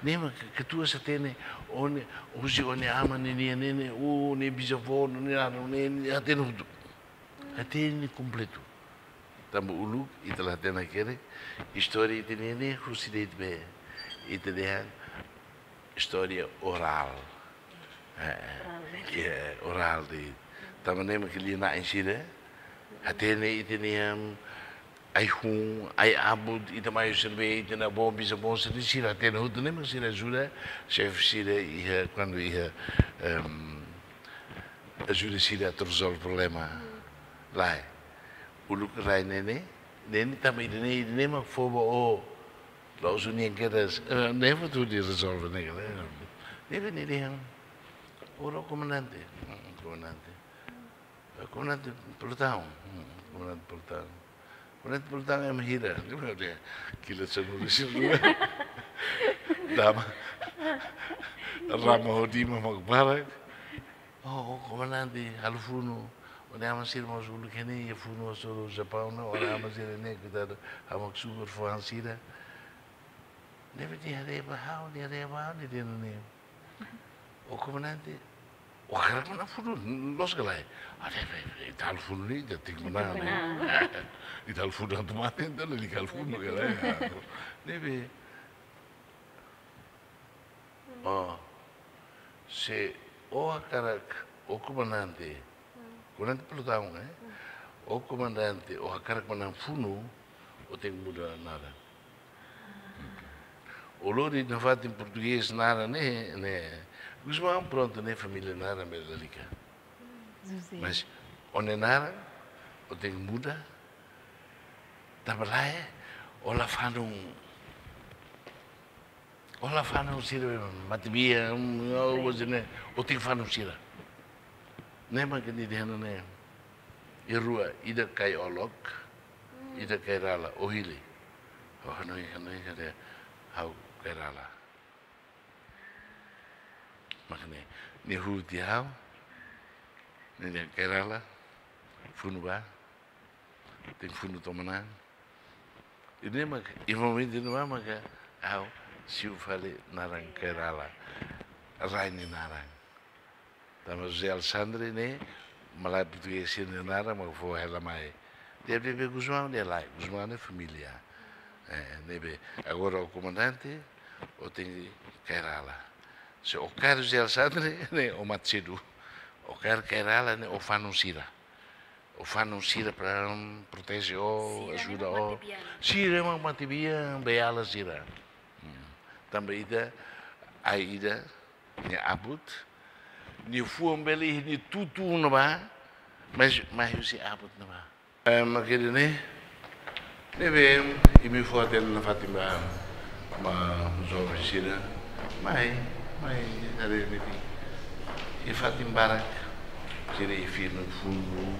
Ne'e mak ke-, katuas hatene, ó-nia, husi ó-nia aman nian, ne'e, ne'e, ó-nia bisavó, ne'e, ne'e, ne'e, hatene hotu. Hatene kompletu. Tanba uluk, ita la hatene hakerek, istória ita-nian ne'e, husi de'it be. Ita dehan, istória orál. Eh, orál, né? Iya, orál de'it. Tanba ne'e mak lia-na'in sira. Hatene ita-nian, ai-hun, ai-abut, ita mai husi ne'ebé, ita-nia avó, bisavó, sira, sira hatene hotu ne'e mak sira ajuda, xefe sira iha, kuandu iha, em, ajuda sira atu rezolve problema. Lae. Uluk rai ne'e ne'e, ne'e ne'e tanba ida-ne'e, ida-ne'e mak fó ba ó. La'ós ó-nian kedas, eh, ne'e fó tuir rezolve ne'e, ne'e. Ne'ebé nia dehan. Ó komandante. Hmm, komandante. Eh, komandante pelotão. Hmm, komandante pelotão. Komandante pelotão ema hira. Ne'e mak dehan. Kila sanulu-resin-rua. Dama. Rama ho diman mak barak. Oh, ó komandante, halo funu. Ó-nia aman sira mós uluk iha ne'e, iha funu hasoru Japaun ne'e, ó-nia aman sira ne'e, koitadu, ha'u mak subar fó han sira. Ne'ebé nia haree ba ha'u, nia haree ba ha'u, nia dehan nune'e. Ó komandante, ó hakarak manán funu, loos ka lae? Ah, ne'e, ne'e, ne'e, ita halo funu ne'e, ita tenke manán, ne'e. Ita halo funu atu mate, entaun lalika halo funu ka lae? Ne'ebé. Oh. Se ó hakarak, ó komandante. Komandante pelotão, eh? Ó komandante, ó hakarak manán funu, ó tenke muda naran. Ó lori nafatin portugés naran ne'e, ne'e. Gusmão, prontu, ne'e família naran bele lalika. José. Mas, ó-nia naran, ó tenke muda. Tanba lae, ó la fanun. Ó la fanun sira matebian, mm, ó, ó, ne'e, ó tenke fanun sira. Ne'e mak nia dehan ne'e. Iha rua, ida Kai Olok, ida Kai Rala, ó hili. Ó hanoin, hanoin, hanoin, ha'u Kai Rala. Mak ne'e, nia huti ha'u, nia dehan Kai Rala, funu bá, tenke funu to'o manán. Ida-ne'e mak, iha momentu ne'ebá maka, ha'u siu fali naran Kai Rala. Rai nia naran. Tanba José Alexandre ne'e, malae portugés sira-nia naran, mak fó hela mai. Dehan be, be Gusmão, dehan lae, Gusmão ne'e família. Eh, ne'ebé, agora ó komandante, ó tenke Kai Rala. Se ó kaer José Alexandre, ne'e ó mate sedu. Ó kaer Kai Rala, ne'e ó fanun sira. Ó fanun sira para, mm, proteje ó, ajuda ó. Sira mak matebian, beiala sira. Hmm. Tanba ida, ai ida, nia abut, Nia fuan bele iha nia tutun ne'ebá, mas, mas husi abut ne'ebá. Eh, mak ida-ne'e, ne'ebé, imi fó hatene nafatin ba, ba joven sira, mai, mai, haree metin. Iha fatin barak, sira iha fila funu,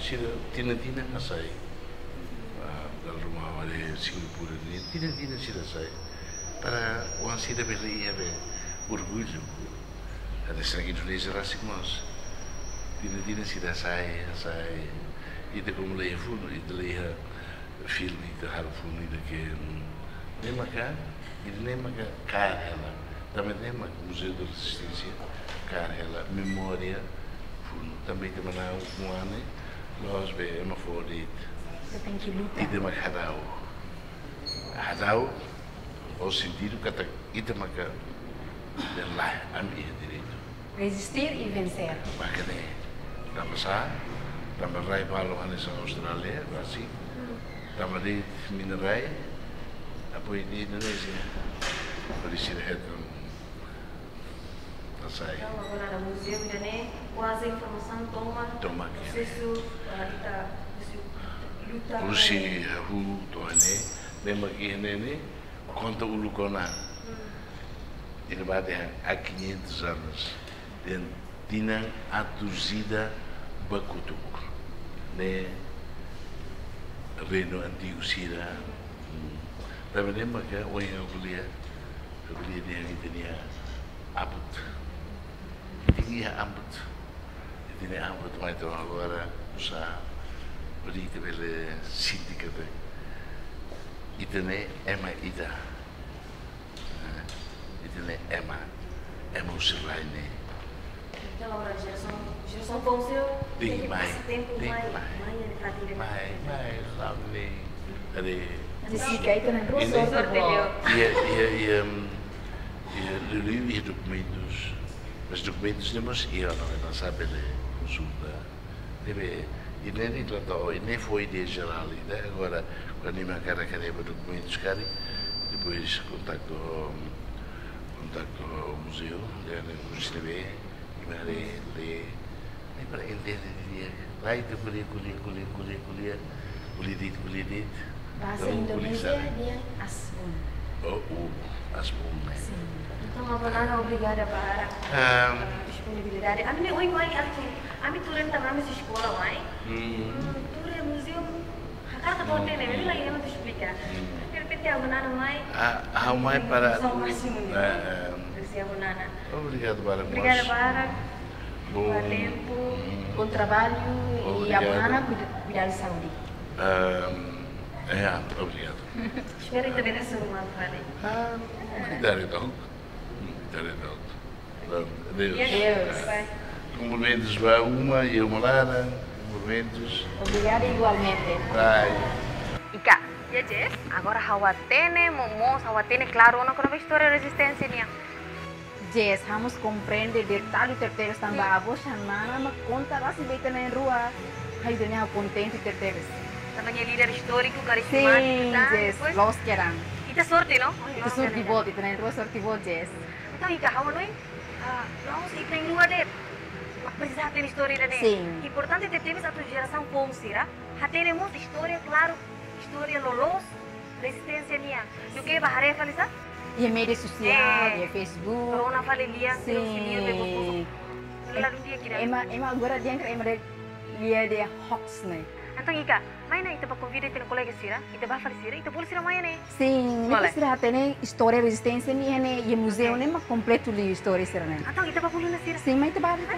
sira tinan-tinan hasai. Ah, dala ruma haree Singapura ne'e, tinan-tinan sira sai. Para oan sira bele iha be orgullu. Haree sira Indonézia rasik mós. Tinan-tinan sira sai, sai. Ita komu la iha funu, ita la iha filme, ita halo funu, ita ke, mm, ne'e maka, ita ne'e maka kaer hela. Tanba ne'e maka Museu da Resistência kaer hela memória funu. Tanba ita manán funu ne'e, loos be ema fó de'it. Ita tenke luta. Ita maka hadau. Hadau, ho sentidu katak ita maka dehan lae, ami iha direitu. Resistir e vencer. Maka ne'e, tanba sá, tanba rai balu hanesan Austrália, Brasil, tanba de'it mina-rai, apoiu de'it Indonézia. Por isso, hetan hasai. Entaun, agora na muzeu, ida-ne'e, kuaze informasaun tomak, tomak, prosesu, ah, ita, husi luta, husi hahú to'o ne'e, memang iha ne'e, konta uluk ona. Hmm. Ida-ne'e ba dehan há quinhentos anos, dehan tinan atus ida ba kotuk. Ne'e reinu antigu sira. Hmm. Tanba ne'e maka ohin ha'u ko'alia, ha'u ko'alia dehan ita-nia abut. Ita-nia abut. Ita-nia abut mai to'o agora, uza hodi ita bele sente katak ita ne'e ema ida. Eh, ita ne'e ema, ema husi rai ne'e. Entaun, agora jerasaun, jerasaun foun sira tenke mai, pasa tempu tenke mai, mai, mai, ita tenke mai, mai, la'o ne'e. Haree. Jessica, ita na'in-rua sorte boot. Iha, iha, iha, mm, iha, liuliu iha dokumentus. Mas dokumentus ne'e mós iha, no, no sabe de konsulta. Ne'ebé, ida-ne'e trata, ida-ne'e fó ideia jerál, ida agora, kuandu imi hakarak haree ba dokumentus karik, depois kontaktu, kontaktu muzeu, dehan ne'e mós ne'ebé, imi haree, lee, ne'e para entende didi'ak. Lae, ita ko'alia, ko'alia, ko'alia, ko'alia, ko'alia, ko'alia de'it, ko'alia de'it. Bahasa Indonesia dehan asbun. Oh, uh, asbun, eh. Sin. Entaun, Avó Nana, obrigada barak, ehm, disponibilidade. Ami ne'e ohin mai, ami tuur, ami tuur entaun ami husi eskola mai. Hmm. Hmm, tuur iha muzeu, hakarak atu hatene, hmm, maibé la iha ema atu esplika. Hmm. Derrepente Avó Nana mai. Ah, ha'u mai para, so másimu, eh, ehm, husi Avó Nana. Obrigadu barak, obrigada mós, barak. Bom. Bom tempo. Hmm. Bom trabalho. Obrigado. E Avó Nana, cuida, cuidar de saúde. Ehm, ya, obrigadu. Espera, ita bele hasoru malu fali. Ah, ita haree to'ok. Ita haree to'ok. Pronto, adeus. Adeus. Bye. Kumprimentus ba uma e uma laran. Kumprimentus. Obrigada igualmente. Bye. Ika, ya, Jess, agora ha'u hatene, mo-, mós ha'u hatene klaru ona kona-ba istória rezisténsia nian. Jess, ha'u mós komprende detale tebetebes tanba, sin, avó Xanana mak konta rasik ba ita na'in-rua. Ai, ida-ne'e ha'u kontente tebetebes. Tanba nia líder istóriku, karizmátiku, sin, tan, Jess, depois loos kedan. Ita sorte, no? Ita sorte boot, ita na'in-rua sorte boot, Jess. Entaun, Ika, ha'u hanoin, ah, la'ós ita na'in-rua de'it mak presiza hatene istória ida-ne'e. Sin. Importante tebetebes atu jerasaun foun sira hatene mós istória, klaru, istória loloos rezisténsia nian. Duké bá haree fali sá? Iha média sosiál, eh, iha Facebook. Rona fali lia, sin, sira husi lia be bobo. Ladún di'ak ida. Ema, ema agora dehan katak ema dehan lia dehan hoax ne'e. Entaun, Ika, mai ona ita bá konvida ita-nia kolega sira, ita bá fali sira, ita bolu sira mai ne'e. Sin, bele. Ne'e para sira hatene istória rezisténsia nian ne'e, iha muzeu, oke, ne'e mak kompletu liu istória sira-ne'e. Entaun, ita bá bolu ona sira. Sin, mai ita bá, ita.